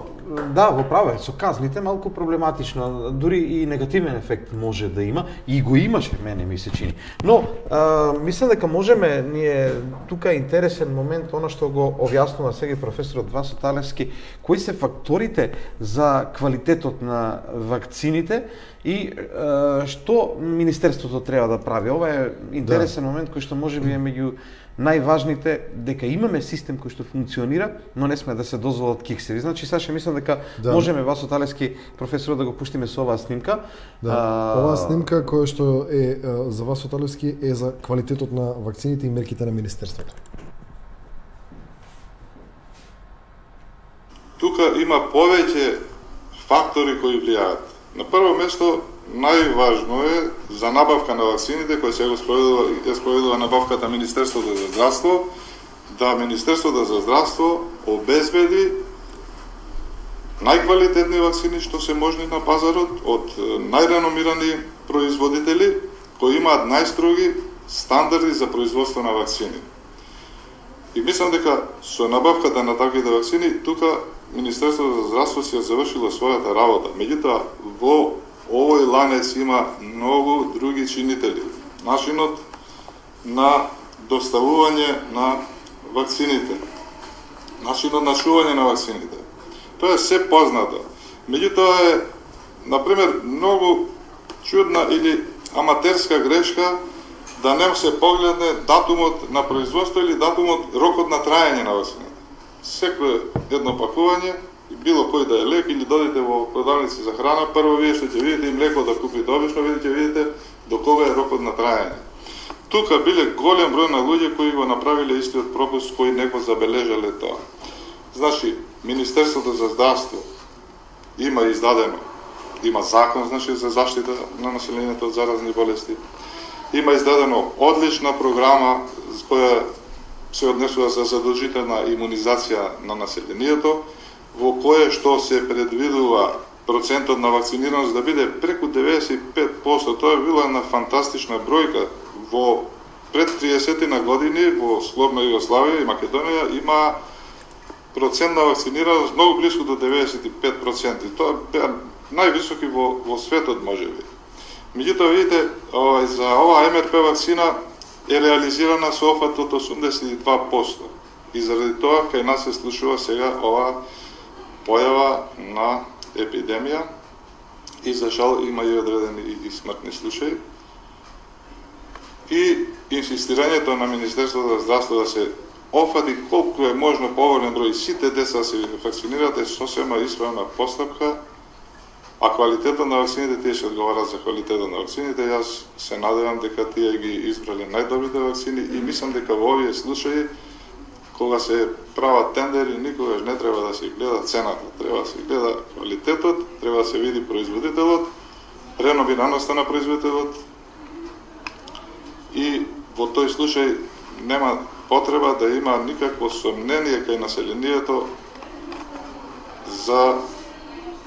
да, во право е, со казните малку проблематично, дури и негативен ефект може да има, и го имаше, мене ми се чини. Но, а, мислам дека можеме, ние, тука е интересен момент, оно што го објаснува сега професорот Васо Талевски, кои се факторите за квалитетот на вакцините и а, што Министерството треба да прави. Ова е интересен да. момент кој што може би е меѓу најважните, дека имаме систем кој што функционира, но не сме да се дозволат киксеви. Значи, Саша, мислам дека да. можеме Васо Талевски, професорот, да го пуштиме со оваа снимка. Да. А... Оваа снимка која што е за Васо Талевски е за квалитетот на вакцините и мерките на Министерството. Тука има повеќе фактори кои влијаат. На прво место, најважно е за набавка на вакцините, која се го спроведува, е спроведува набавката Министерството за здравство, да Министерството за здравство обезбеди најквалитетни вакцини што се можни на пазарот од најреномирани производители кои имаат најстроги стандарди за производство на вакцини. И мислам дека со набавката на таквите вакцини тука Министерството за здравство си ја завршило својата работа. Меѓутоа, во овој ланец има многу други чинители. Начинот на доставување на вакцините, начинот на шување на вакцините. Тоа е се познато. Меѓутоа е, например, многу чудна или аматерска грешка да не се погледне датумот на производство или датумот, рокот на траење на вакцината. Секое едно пакување, било кој да е лек или додите во продавници за храна, прво вие што ќе видите и млеко да купите, обично видите, видите до кога е рокот на траење. Тука биле голем број на луѓе кои го направиле истиот пропуск, кои не го забележале тоа. Значи, Министерството за здравство има издадено, има закон, значи, за заштита на населението од заразни болести. Има издадено одлична програма која се однесува за задолжителна имунизација на населението, во кое што се предвидува процентот на вакцинираност да биде преку деветдесет и пет проценти. Тоа е била една фантастична бројка. Во пред триесет на години во слободна Југославија и Македонија има процент на вакцинираност многу близко до деветдесет и пет проценти. Тоа беа највисоки во, во светот, можеби. Меѓутоа, видите, овај, за оваа Ем Ер Пе вакцина е реализирана со офат од осумдесет и два проценти. И заради тоа, кај нас се случува сега оваа појава на епидемија и за жал има и одредени и, и смртни случаи. И инсистирањето на Министерството за здравство да се офати колку е можно поголем број сите деца да се вакцинираат е сосема исправна постапка, а квалитетот на вакцините, тие ќе одговарат за квалитетот на вакцините. Јас се надевам дека тие ги избрале најдобрите вакцини и мислам дека во овие случаи, кога се прават тендери, никогаш не треба да се гледа цената, треба да се гледа квалитетот, треба да се види производителот, реномираноста на производителот и во тој случај нема потреба да има никакво сомнение кај населението за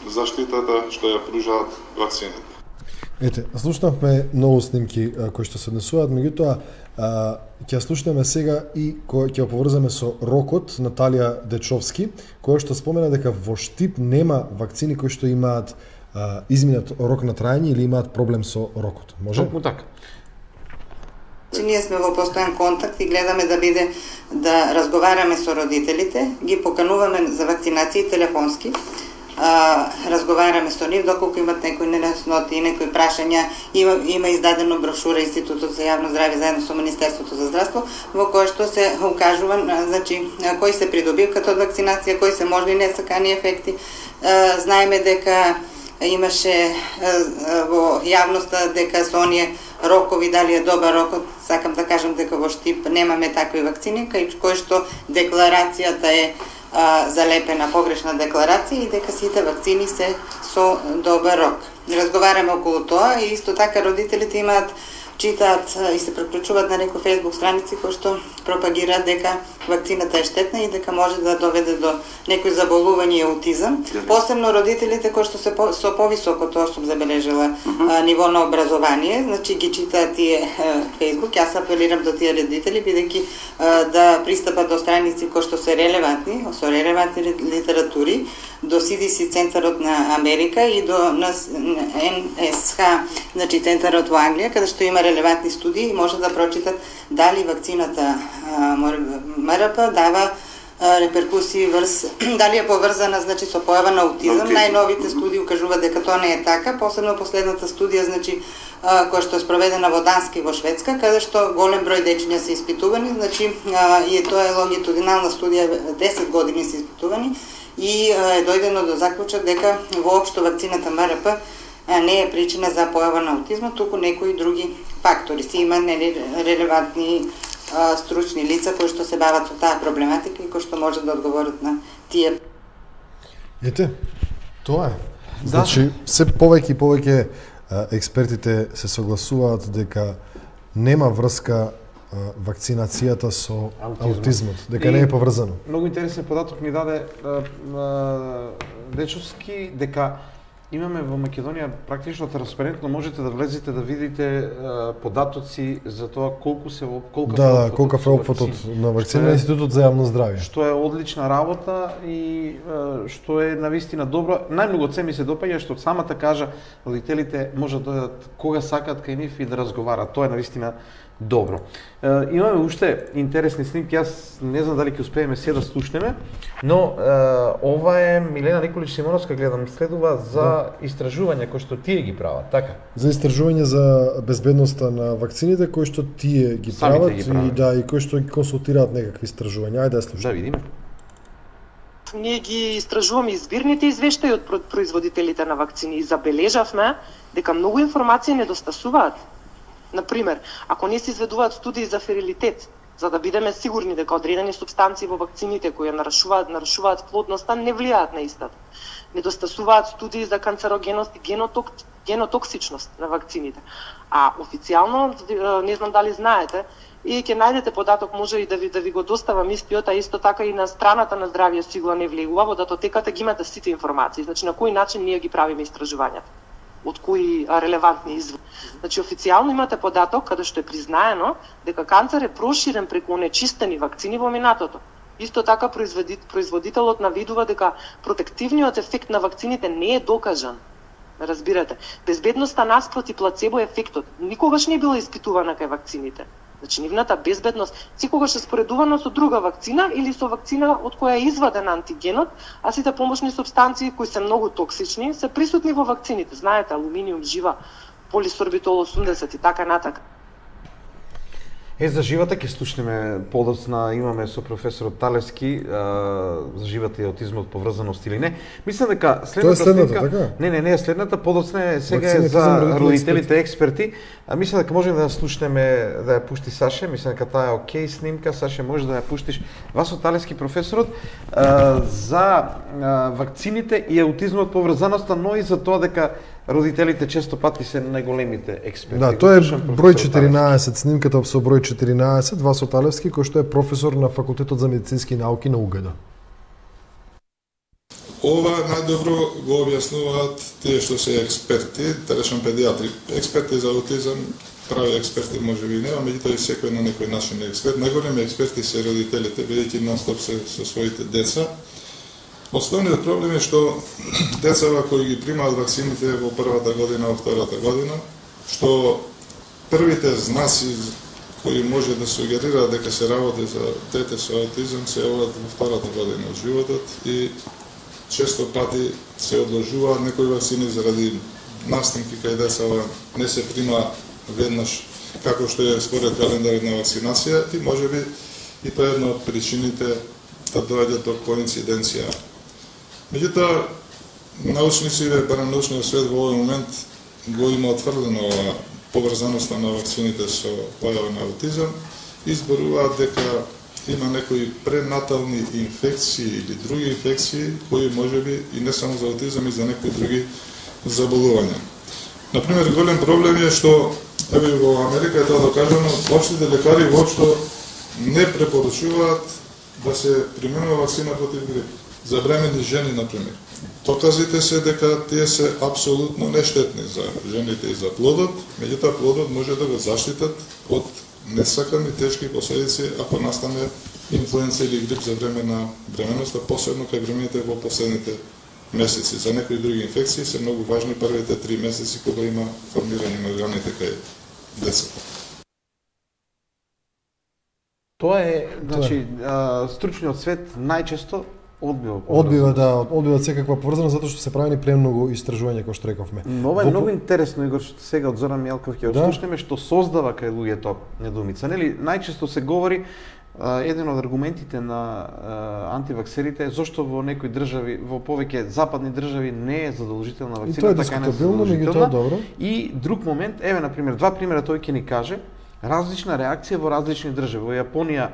заштитата што ја пружаат вакцините. Ете, слушнавме многу снимки а, кои што се однесуваат, меѓутоа ќе слушнеме сега и кој ќе поврзаме со рокот Наталија Дечовски, која што спомена дека во Штип нема вакцини кои што имаат а, изминат рок на трајање или имаат проблем со рокот. Може? Токму така. Че ние сме во постојан контакт и гледаме да биде да разговараме со родителите, ги покануваме за вакцинации телефонски. Uh, разговараме со нив доколку имат некои неясноти и некои прашања. Има, има издадено брошура Институтот за јавно здравје заедно со Министерството за здравство во која што се укажува значи кои се придобивката од вакцинација, кои се можни несакани ефекти. Uh, знаеме дека имаше uh, во јавноста дека со оние рокови дали е добар рокот. Сакам да кажам дека во Штип немаме такви вакцини, кај кој што декларацијата е А, залепена погрешна декларација и дека сите вакцини се со добар рок. Разговараме околу тоа и исто така родителите имаат, читаат и се преклучуваат на некои фейсбук страници кои што пропагираат дека вакцината е штетна и дека може да доведе до некои заболување и аутизам. Посебно родителите кои што се по, со повисоко, тоа сум забележала, uh-huh. ниво на образование, значи ги читаат тие фейсбук. Јас апелирам до тие родители бидејќи да пристапат до страници кои што се релевантни, со релевантни литератури, до Си Ди Си центарот на Америка и до Ен Ес Ха, значи центарот во Англија, каде што има релевантни студии и може да прочитат дали вакцината Ем Ер П дава реперкусии врз дали е поврзана значи со појава на аутизам. Okay. Најновите студии укажуваат дека тоа не е така, посебно последната студија значи која што е спроведена во Данска и во Шведска, каде што голем број дечиња се испитувани, значи и тоа е лонгитудинална студија, десет години се испитувани и е дојдено до заклучок дека воопшто вакцината Ем Ер П не е причина за појава на аутизма, туку некои други фактори. Си има релевантни а, стручни лица кои што се бават со таа проблематика и кои што можат да одговорат на тие. Ете, тоа е. Значи, се повеќе и повеќе експертите се согласуваат дека нема врска а, вакцинацијата со аутизмот, аутизмот дека и не е поврзано. Многу интересен податок ми даде а, а, Дечовски дека имаме во Македонија практично транспарентно, можете да влезете да видите а, податоци за тоа колку се колку да, колку е опфатот на вакцина на Институтот за јавно здравје. Што е одлична работа и а, што е навистина добро. Најмногу од се ми се допаѓа што самата кажа родителите може да дојдат кога сакаат кај нив и да разговараат. Тоа е навистина добро. Е, имаме уште интересни снимки, јас не знам дали ќе успееме се да слушнеме, но е, ова е Милена Николич Симоновска, гледам, следува за да. Истражувања кои што тие ги прават, така? За истражување за безбедноста на вакцините кои што тие ги Самите прават ги прават. И да и кои што ги консултираат некакви истражувања. Ајде да слушаме. Да видиме. Ние ги истражуваме избирните извештаи од производителите на вакцини и забележавме дека многу информации недостасуваат. Например, ако не се изведуваат студии за ферилитет, за да бидеме сигурни дека одредени субстанции во вакцините кои нарушуваат нарушуваат плодноста не влијаат на истата. Недостасуваат студии за канцерогеност и геноток, генотоксичност на вакцините. А официјално, не знам дали знаете, и ќе најдете податок, може и да ви да ви го доставам истиот, а исто така и на страната на Здравје Сигла не влегува, во датотеката ги имате сите информации, значи на кој начин ние ги правиме истражувањата, од кои релевантни извори. Значи официјално имате податок каде што е признаено дека канцер е проширен преку онечистени вакцини во минатото. Исто така производителот наведува дека протективниот ефект на вакцините не е докажан. Разбирате, безбедноста наспроти плацебо ефектот никогаш не е била испитувана кај вакцините. Значи, нивната безбедност секогаш е споредувана со друга вакцина или со вакцина од која е изваден антигенот, а сите помошни супстанции кои се многу токсични се присутни во вакцините. Знаете, алуминиум, жива, полисорбитол осумдесет и така натака. Е, за живата ќе слушнеме подоцна, имаме со професорот Талевски а, за живата и аутизмот, поврзаност или не. Мислам дека следната следната, снимка, така? не, не, не, следната подоцна е сега е Вакцините за за родителите родителите експерти. А мислам дека можеме да ја слушнеме, да ја пушти Саше, мислам дека таа е окей снимка, Саше може да ја пуштиш. Васо Талевски професорот а, за а, вакцините и аутизмот, поврзаноста, но и за тоа дека родителите често пати се најголемите експерти. Да, тоа е број четиринаесет, снимката со број четиринаесет, Васо Талевски, кој што е професор на Факултетот за медицински науки на УГД. Ова најдобро го објаснуваат тие што се експерти, да речем педиатри. Експерти за аутизам, прави експерти може би нема, меѓутоа и секој на некој начин е експерт. Најголеми експерти се родителите, бидејќи нон-стоп се со своите деца. Основниот проблем е што децава кои ги примаат вакцините во првата година, во втората година, што првите знаци кои може да сугерираат дека се работи за дете со аутизам се јавуваат во втората година од животот и често пати се одложуваат некои вакцини заради настинки кај децава не се прима веднаш како што е според календарот на вакцинација и можеби и тоа е една од причините да доаѓа до коинциденција. Меѓутоа, научниците, барем научниот свет во овој момент го има отврдено ова поврзаноста на вакцините со појава на аутизам и зборуваат дека има некои пренатални инфекции или други инфекции кои можеби и не само за аутизам и за некои други заболувања. Например, голем проблем е што еве во Америка е тоа докажано, општите лекари воопшто не препорачуваат да се применува вакцина против грип. За бремени жени, например. Доказите се дека тие се апсолутно нештетни за жените и за плодот, меѓутоа плодот може да го заштитат од несакани тешки последици ако настане инфлуенца или грип за време на бременоста, посебно кај бремените во последните месеци. За некои други инфекции се многу важни првите три месеци кога има формирање на органите кај децата. Тоа е, значи, а, стручниот свет најчесто одбива Одбива, да, одбива секаква поврзаност затоа што се правени премногу истражувања кои што рековме. Но ова е многу интересно, Игор, што сега од Зоран Мјелков ќе отслушнеме, што создава кај луѓето недоумица. Нели, најчесто се говори, а, еден од аргументите на а, антиваксерите е зошто во некои држави, во повеќе западни држави не е задолжителна вакцина, и тоа е така не е дискутабилно, меѓутоа добро. И друг момент, еве на пример, два примера тој ќе ни каже, различна реакција во различни држави. Во Јапонија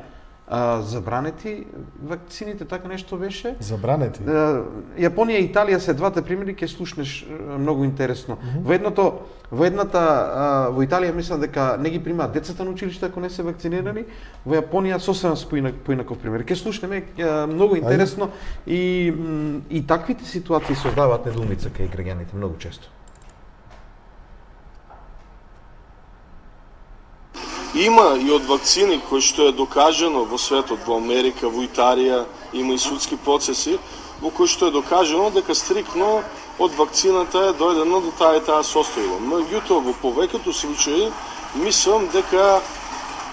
а, забранети вакцините, така нешто беше. Забранети? А, Јапонија и Италија се двата примери, ќе слушнеш многу интересно. Mm -hmm. Во едното, во едната, а, во Италија мислам дека не ги примаат децата на училиште ако не се вакцинирани, во Јапонија сосема поинаков пример. Ќе слушнеме а, многу интересно и, и таквите ситуации создаваат недоумица кај граѓаните многу често. Има и од вакцини кои што е докажано во светот, во Америка, во Италија, има и судски процеси во кои што е докажано дека стрикно од вакцината е дојдено до таа и таа состојба. Меѓутоа, во повеќето случаи, мислам дека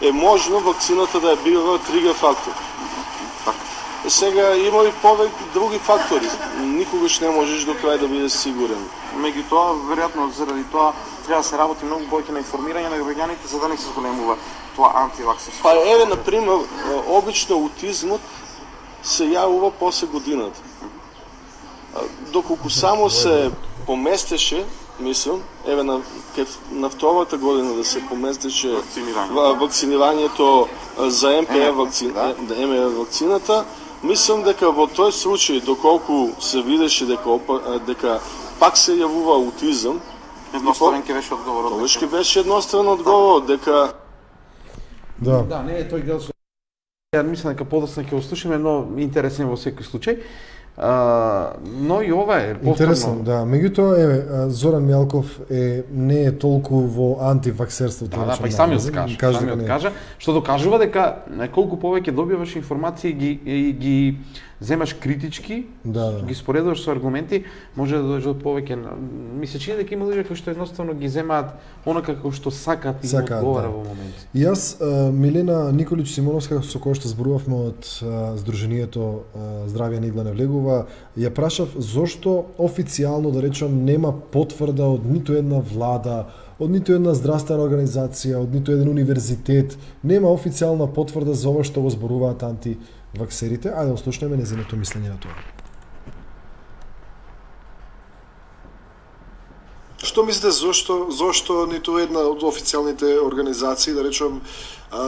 е можно вакцината да е била тригер фактор. Сега има и повеќе други фактори. Никогаш не можеш до крај да бидеш сигурен. Меѓутоа, веројатно заради тоа треба да се работи многу повеќе на информирање на граѓаните за да не се зголемува тоа антиваксерство. Па еве на пример, обично аутизмот се јавува после годината. Доколку само се поместеше, мислам, еве на на втората година да се поместеше вакцинирање. вакцинирањето за Ем Пе Ар вакцина, да Ем Пе Ар вакцината, мислам дека во тој случај доколку се видеше дека дека пак се јавува аутизам, едностранен ќе беше одговорот. Тоа ќе беше едностранен одговор дека Да. Да, не е тој дел со... Ја мислам дека подоцна ќе го слушаме, но интересен во секој случај. А, но и ова е повторно. Интересно, да. Меѓутоа, еве, Зоран Мјалков е не е толку во антиваксерството. Да, да, па и самиот кажа, кажа самиот кажа, што докажува дека колку повеќе добиваш информации ги и ги земаш критички, да, да. ги споредуваш со аргументи, може да дојдеш до повеќе. Ми се чини дека има луѓе кои што едноставно ги земаат онака како што сакаат и им одговара да. во момент. И јас, Милена Николич Симоновска, со која што зборувавме од Сдруженијето Здравје не игла не влегува, ја прашав зошто официјално, да речам, нема потврда од ниту една влада, од ниту една здравствена организација, од ниту еден универзитет, нема официјална потврда за ова што го зборуваат антиваксерите. Ајде да ослушнеме незиното мислење на тоа. Што мислите зошто зошто ниту една од официјалните организации, да речем,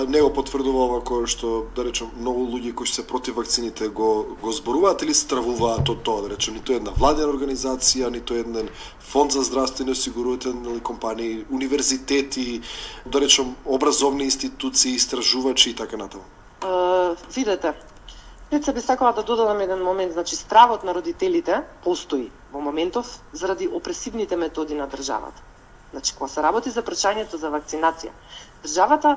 не го потврдува ова кој што, да речем, многу луѓе кои се против вакцините го го зборуваат или стравуваат од тоа, да речем, ниту една владена организација, ниту еден фонд за здравствени осигурителни компании, универзитети, да речем, образовни институции, истражувачи и така натаму. Uh, видете, пред се би сакала да додадам еден момент, значи стравот на родителите постои во моментов заради опресивните методи на државата. Значи, кога се работи за прашањето за вакцинација, државата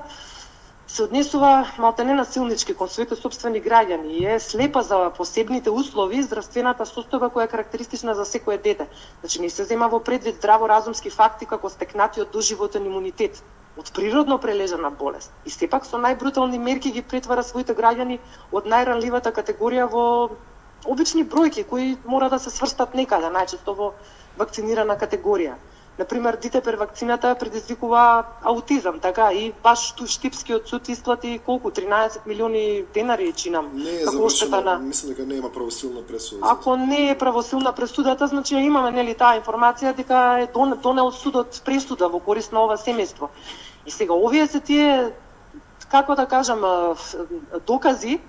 се однесува малтене насилнички кон своите сопствени граѓани и е слепа за посебните услови и здравствената состојба која е карактеристична за секое дете. Значи, не се зема во предвид здраворазумски факти како стекнатиот доживотен имунитет од природно прележана болест. И сепак со најбрутални мерки ги претвара своите граѓани од најранливата категорија во обични бројки кои мора да се сврстат некаде, најчесто во вакцинирана категорија. Например, дете per вакцината предизвикува аутизам, така и баш ту Штипскиот суд исплати колку тринаесет милиони денари чинам. Не е завршена, на... мислам дека нема правосилна пресуда. Ако не е правосилна пресудата, значи имаме нели таа информација дека е донел судот пресуда во корист на ова семејство. И сега овие се тие, како да кажам, докази.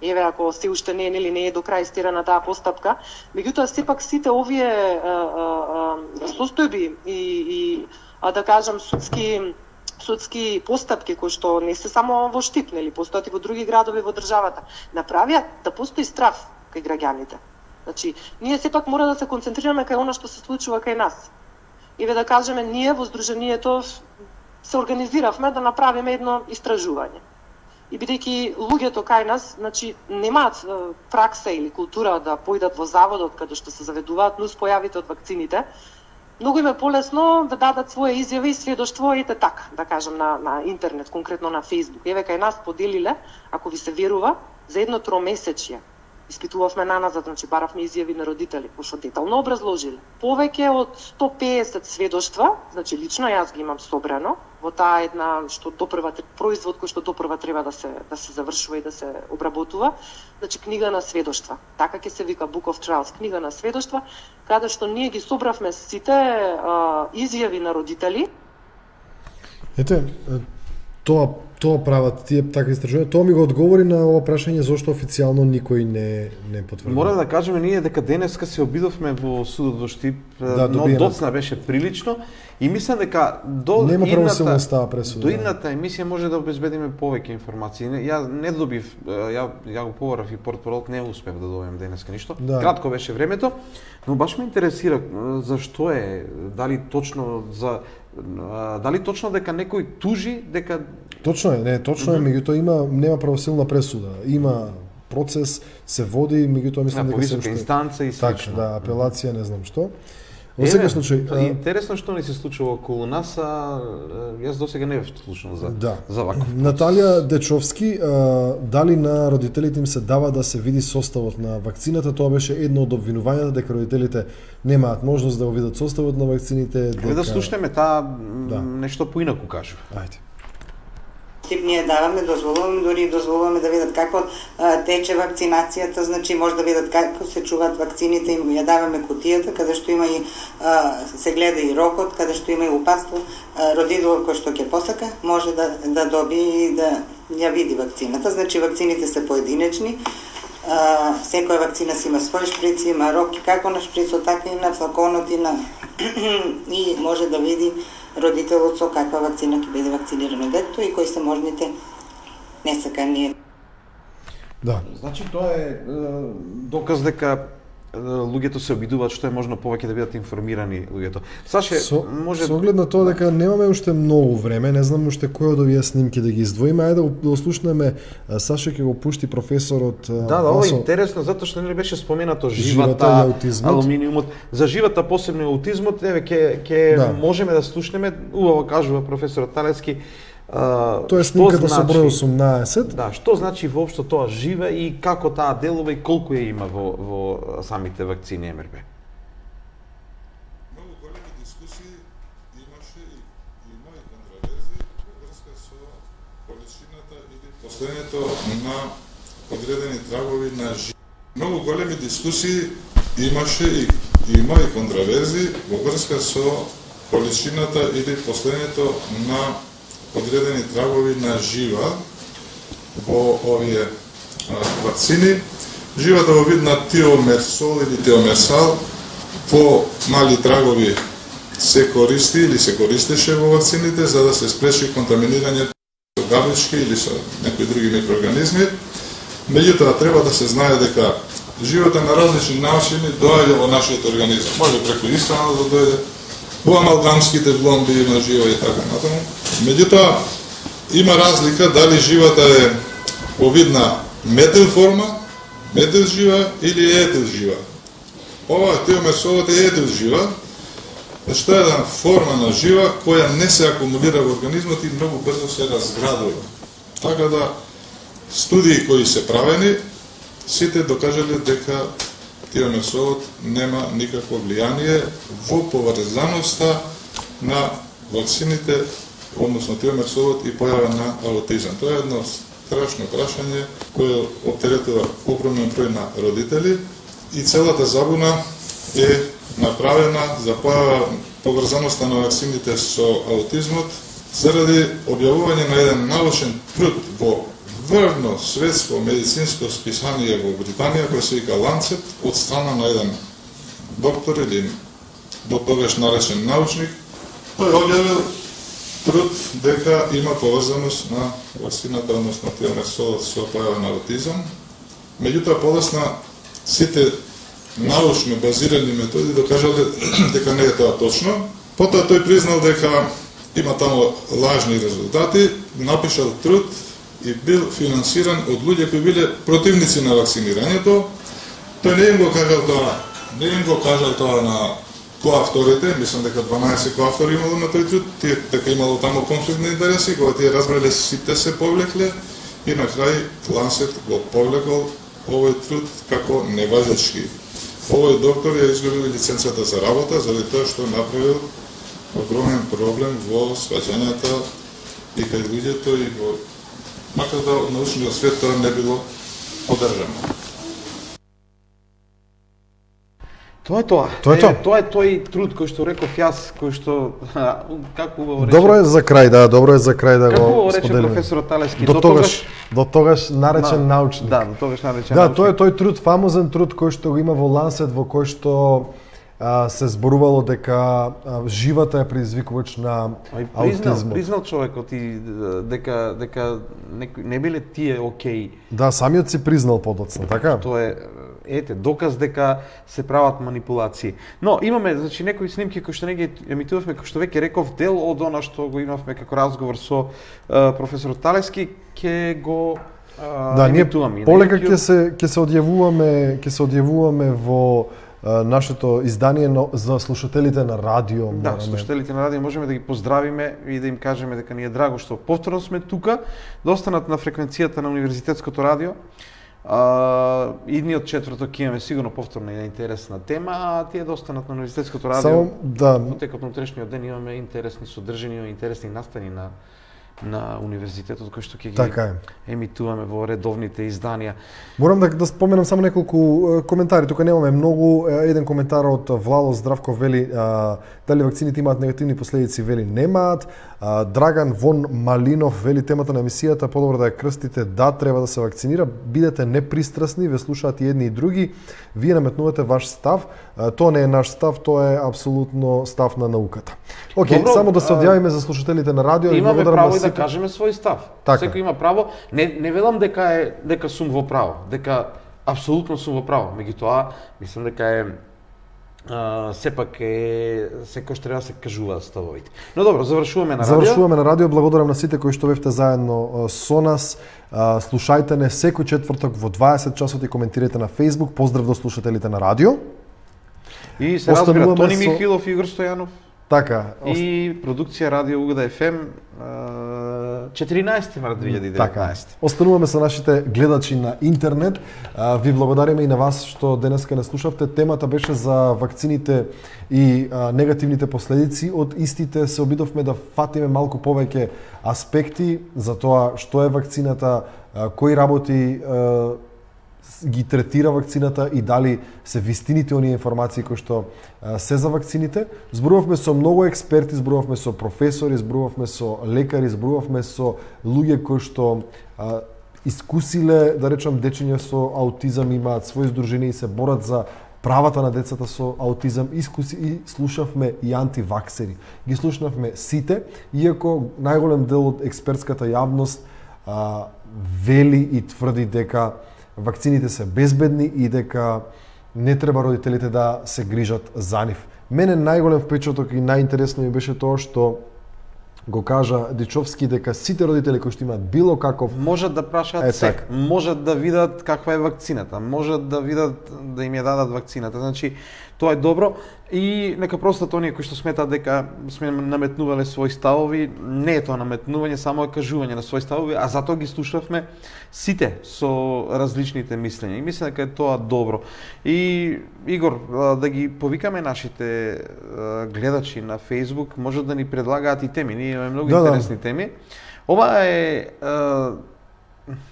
Еве, ако се уште не, нели, не е до крај стирана таа постапка, меѓутоа сепак сите овие а, а, а, состојби и, и а, да кажам судски судски постапки кои што не се само во Штип, нели, постојат и во други градови во државата, направија да постои страв кај граѓаните. Значи, ние сепак мора да се концентрираме кај она што се случува кај нас. Еве да кажеме, ние во Сдруженијето се организиравме да направиме едно истражување. И бидејќи луѓето кај нас, значи, немаат е, пракса или култура да појдат во заводот каде што се заведуваат нуспојавите од вакцините, многу им е полесно да дадат своја изјави и сведоштво, ете така, да кажам, на, на интернет, конкретно на Facebook. Еве кај нас поделиле, ако ви се верува, за едно тромесечје. Испитувавме наназад, значи баравме изјави на родители, кои што детално образложиле. Повеќе од сто пеесет сведоштва, значи лично јас ги имам собрано, во таа една што допрва производ кој што допрва треба да се да се завршува и да се обработува, значи книга на сведоштва. Така ќе се вика Book of Trials, книга на сведоштва, каде што ние ги собравме сите а, изјави на родители. Ете, тоа тоа прават тие така истражувања. Тоа ми го одговори на ова прашање зошто официјално никој не не потврди. Мора да кажеме ние дека денеска се обидовме во судот во Штип, да, но доцна беше прилично и мислам дека до нема правосилна идната пресуда. До идната емисија може да обезбедиме повеќе информации. Ја не добив, ја ја го побарав и портпролот, не успев да добием денеска ништо. Да. Кратко беше времето, но баш ме интересира зашто е, дали точно за дали точно дека некој тужи дека Точно е, не, точно е, меѓутоа има нема правосилна пресуда. Има процес, се води, меѓутоа мислам дека се уште инстанца и Така, слично. да, апелација, не знам што. Во секој случај, а... интересно што ни се случува околу нас, а јас досега не бев слушнал за да. за ваков. Наталија Дечовски, а, дали на родителите им се дава да се види составот на вакцината? Тоа беше едно од обвинувањата дека родителите немаат можност да го видат составот на вакцините. Дека... да слушнеме таа да. нешто поинаку кажува. Ајде. Тип ние даваме, дозволуваме, дори дозволуваме да видат како а, тече вакцинацијата, значи може да видат како се чуваат вакцините, им ја даваме кутијата, каде што има и а, се гледа и рокот, каде што има и упатство, родител кој што ќе посака, може да да добие и да ја види вакцината. Значи вакцините се поединечни. А, секоја вакцина си има свој шприц, има рок, како на шприцот, така и на флаконот и на и може да види родителот со каква вакцина ќе биде вакцинирано детето и кои се можните несакани. Да. Значи тоа е, е доказ дека луѓето се обидуваат што е можно повеќе да бидат информирани луѓето. Саше, со, може со оглед на тоа дека немаме уште многу време, не знам уште кој од овие снимки да ги издвоиме, ајде да го слушнеме. Саше ќе го пушти професорот. Да, да, ова е интересно затоа што нели беше споменато живата, живата алуминиумот, за живата посебно аутизмот, еве ќе ќе да. можеме да слушнеме, убаво кажува професорот Талески. Uh, тоа е снимката со број осумнаесет. Да, што значи воопшто тоа живе и како таа делува и колку ја има во, во самите вакцини Ем Ер Бе? Многу големи дискусии имаше и има и контроверзи во врска со количината или постоењето на одредени трагови на живе. Многу големи дискусии имаше и има и контроверзи во врска со количината или постоењето на одредени трагови на жива во овие а, вакцини. Живата во вид на тиомерсол или тиомерсал по мали трагови се користи или се користеше во вакцините за да се спречи контаминирање со габички или со некои други микроорганизми. Меѓутоа треба да се знае дека живата на различни начини доаѓа во нашиот организам. Може преку исхрана да дојде, во амалгамските вломби има жива и така натаму. Меѓутоа, има разлика дали живата е во вид на метил форма, метил жива или етил жива. Ова тиомерсолот е етил жива, што е една форма на жива која не се акумулира во организмот и многу брзо се разградува. Така да, студии кои се правени, сите докажале дека тиомерсолот нема никакво влијание во поврзаноста на вакцините, односно тиомерсолот и појава на аутизам. Тоа е едно страшно прашање кое оптеретува огромен број на родители и целата забуна е направена за појава поврзаноста на вакцините со аутизмот заради објавување на еден научен труд во врвно светско медицинско списание во Британија кој се вика Lancet од страна на еден доктор или до тогаш наречен научник. Тој објавил труд дека има поврзаност на вакцината, односно тиомерсолот со појава на аутизам. Меѓутоа подоцна сите научно базирани методи докажале дека не е тоа точно. Потоа тој признал дека има таму лажни резултати, напишал труд и бил финансиран од луѓе кои биле противници на вакцинирањето. Тој не им го кажал тоа, не им го кажал тоа на коавторите, мислам дека дванаесет коавтори имало на тој труд, тие дека имало таму конфликт на интереси, кога тие разбрале сите се повлекле и на крај Lancet го повлекол овој труд како неважечки. Овој доктор ја изгубил лиценцата за работа заради тоа што направил огромен проблем во сваќањата и кај луѓето и во макар да од научниот свет тоа не било поддржано. Тоа е тоа. Тоа е тоа. Е, тоа е тој труд кој што реков јас, кој што како убаво рече. Добро е за крај, да, добро е за крај да како го рече споделиме. професорот Талески, до, до тогаш, до тогаш наречен на, научник. Да, до тогаш наречен да, научник. Да, тоа е тој труд, фамозен труд кој што го има во Lancet, во кој што а, се зборувало дека а, живата е предизвикувач на аутизмот. Признал човекот и дека дека не, не биле тие окей. Да, самиот си признал подоцна, така? Тоа е ете доказ дека се прават манипулации. Но имаме значи некои снимки кои што не ги емитувавме, кои што веќе реков дел од она што го имавме како разговор со uh, професорот Талески, ќе го uh, да, емитуваме. Да, ние полека ќе се ќе се одјавуваме, ќе се одјавуваме во uh, нашето издание но, за слушателите на радио. Да, мораме. Слушателите на радио можеме да ги поздравиме и да им кажеме дека ни е драго што повторно сме тука, да останат на фреквенцијата на Универзитетското радио. Uh, идниот четврток имаме сигурно повторна и интересна тема, а тие да останат на Универзитетското радио. Само, да. Во текот на утрешниот ден имаме интересни содржини, интересни настани на на универзитетот кои што ќе ги така емитуваме во редовните изданија. Морам да, да споменам само неколку коментари, тука немаме многу. Еден коментар од Влало Здравко вели а, дали вакцините имаат негативни последици, вели немаат. А, Драган Вон Малинов вели темата на емисијата подобро да ја крстите, да, треба да се вакцинира, бидете непристрасни, ве слушаат и едни и други, вие наметнувате ваш став, а, тоа не е наш став, тоа е апсолутно став на науката. Океј, okay, само да се одјавиме за слушателите на радио и имаме право и да да кажеме свој став. Така. Секој има право. Не не велам дека е дека сум во право, дека апсолутно сум во право. Меѓутоа, мислам дека е Uh, сепак е секој што треба да се кажуваат ставовите. Но добро, завршуваме на радио. Завршуваме на радио. Благодарам на сите кои што бевте заедно со нас. Uh, слушајте не секој четврток во дваесет часот и коментирайте на Facebook. Поздрав до слушателите на радио. И се разбира Тони Михилов и Игор Стојанов. Така. И продукција Радио Угода еф ем четиринаесети март две илјади и деветнаесети. Така. Остануваме со нашите гледачи на интернет. Ви благодариме и на вас што денеска не слушавте. Темата беше за вакцините и а, негативните последици. Од истите се обидовме да фатиме малку повеќе аспекти за тоа што е вакцината, а, кои работи а, ги третира вакцината и дали се вистините оние информации кои што а, се за вакцините. Зборувавме со многу експерти, зборувавме со професори, зборувавме со лекари, зборувавме со луѓе кои што а, искусиле, да речам, дечиња со аутизам, имаат своји здружени и се борат за правата на децата со аутизам. Искуси и слушавме и антиваксери. Ги слушнавме сите, иако најголем дел од експертската јавност а, вели и тврди дека вакцините се безбедни и дека не треба родителите да се грижат за нив. Мене најголем впечаток и најинтересно ми беше тоа што го кажа Дичовски дека сите родители кои што имаат било каков можат да прашаат се, можат да видат каква е вакцината, можат да видат да им ја дадат вакцината. Значи тоа е добро и нека простат оние кои што сметаат дека сме наметнувале своји ставови, не е тоа наметнување, само е кажување на своји ставови, а затоа ги слушавме сите со различните мислења. И мислам дека е тоа добро. И Игор, да ги повикаме нашите гледачи на Facebook, може да ни предлагаат и теми. Ние имаме многу да, интересни да. теми. Ова е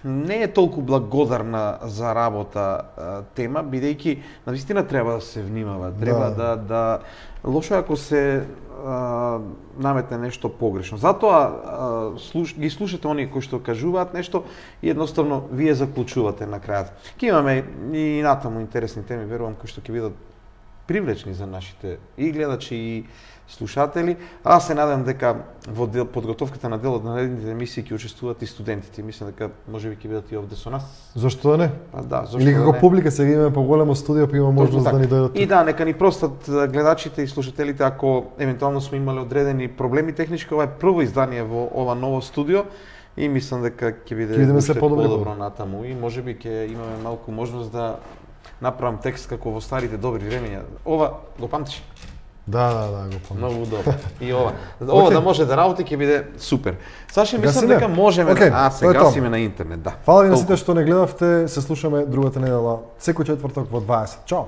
не е толку благодарна за работа тема, бидејќи навистина треба да се внимава, треба да да, да лошо ако се а, наметне нешто погрешно. Затоа а, слуш, ги слушате оние кои што кажуваат нешто и едноставно вие заклучувате на крајот. Ке имаме и натаму интересни теми, верувам, кои што ќе бидат привлечни за нашите и гледачи и слушатели. Аз се надам дека во дел, подготовката на делот на наредните емисии ќе учествуваат и студентите. Мислам дека можеби ќе бидат и овде со нас. Зошто да не? Па да, зошто или како да публика сега имаме поголемо студио, па има можност да ни дојдат. И да, нека ни простат гледачите и слушателите ако евентуално сме имале одредени проблеми технички. Ова е прво издание во ова ново студио и мислам дека ќе биде уште подобро натаму и можеби ќе имаме малку можност да направам текст како во старите добри времења. Ова го памтиш? Да, да, да, го памтиш. Многу добро. И ова. Ова okay. да може да работи ќе биде супер. Саши, мислам дека можеме okay. а се гасиме на интернет, да. Фала ви на сите што не гледавте, се слушаме другата недела секој четврток во дваесет. Чао.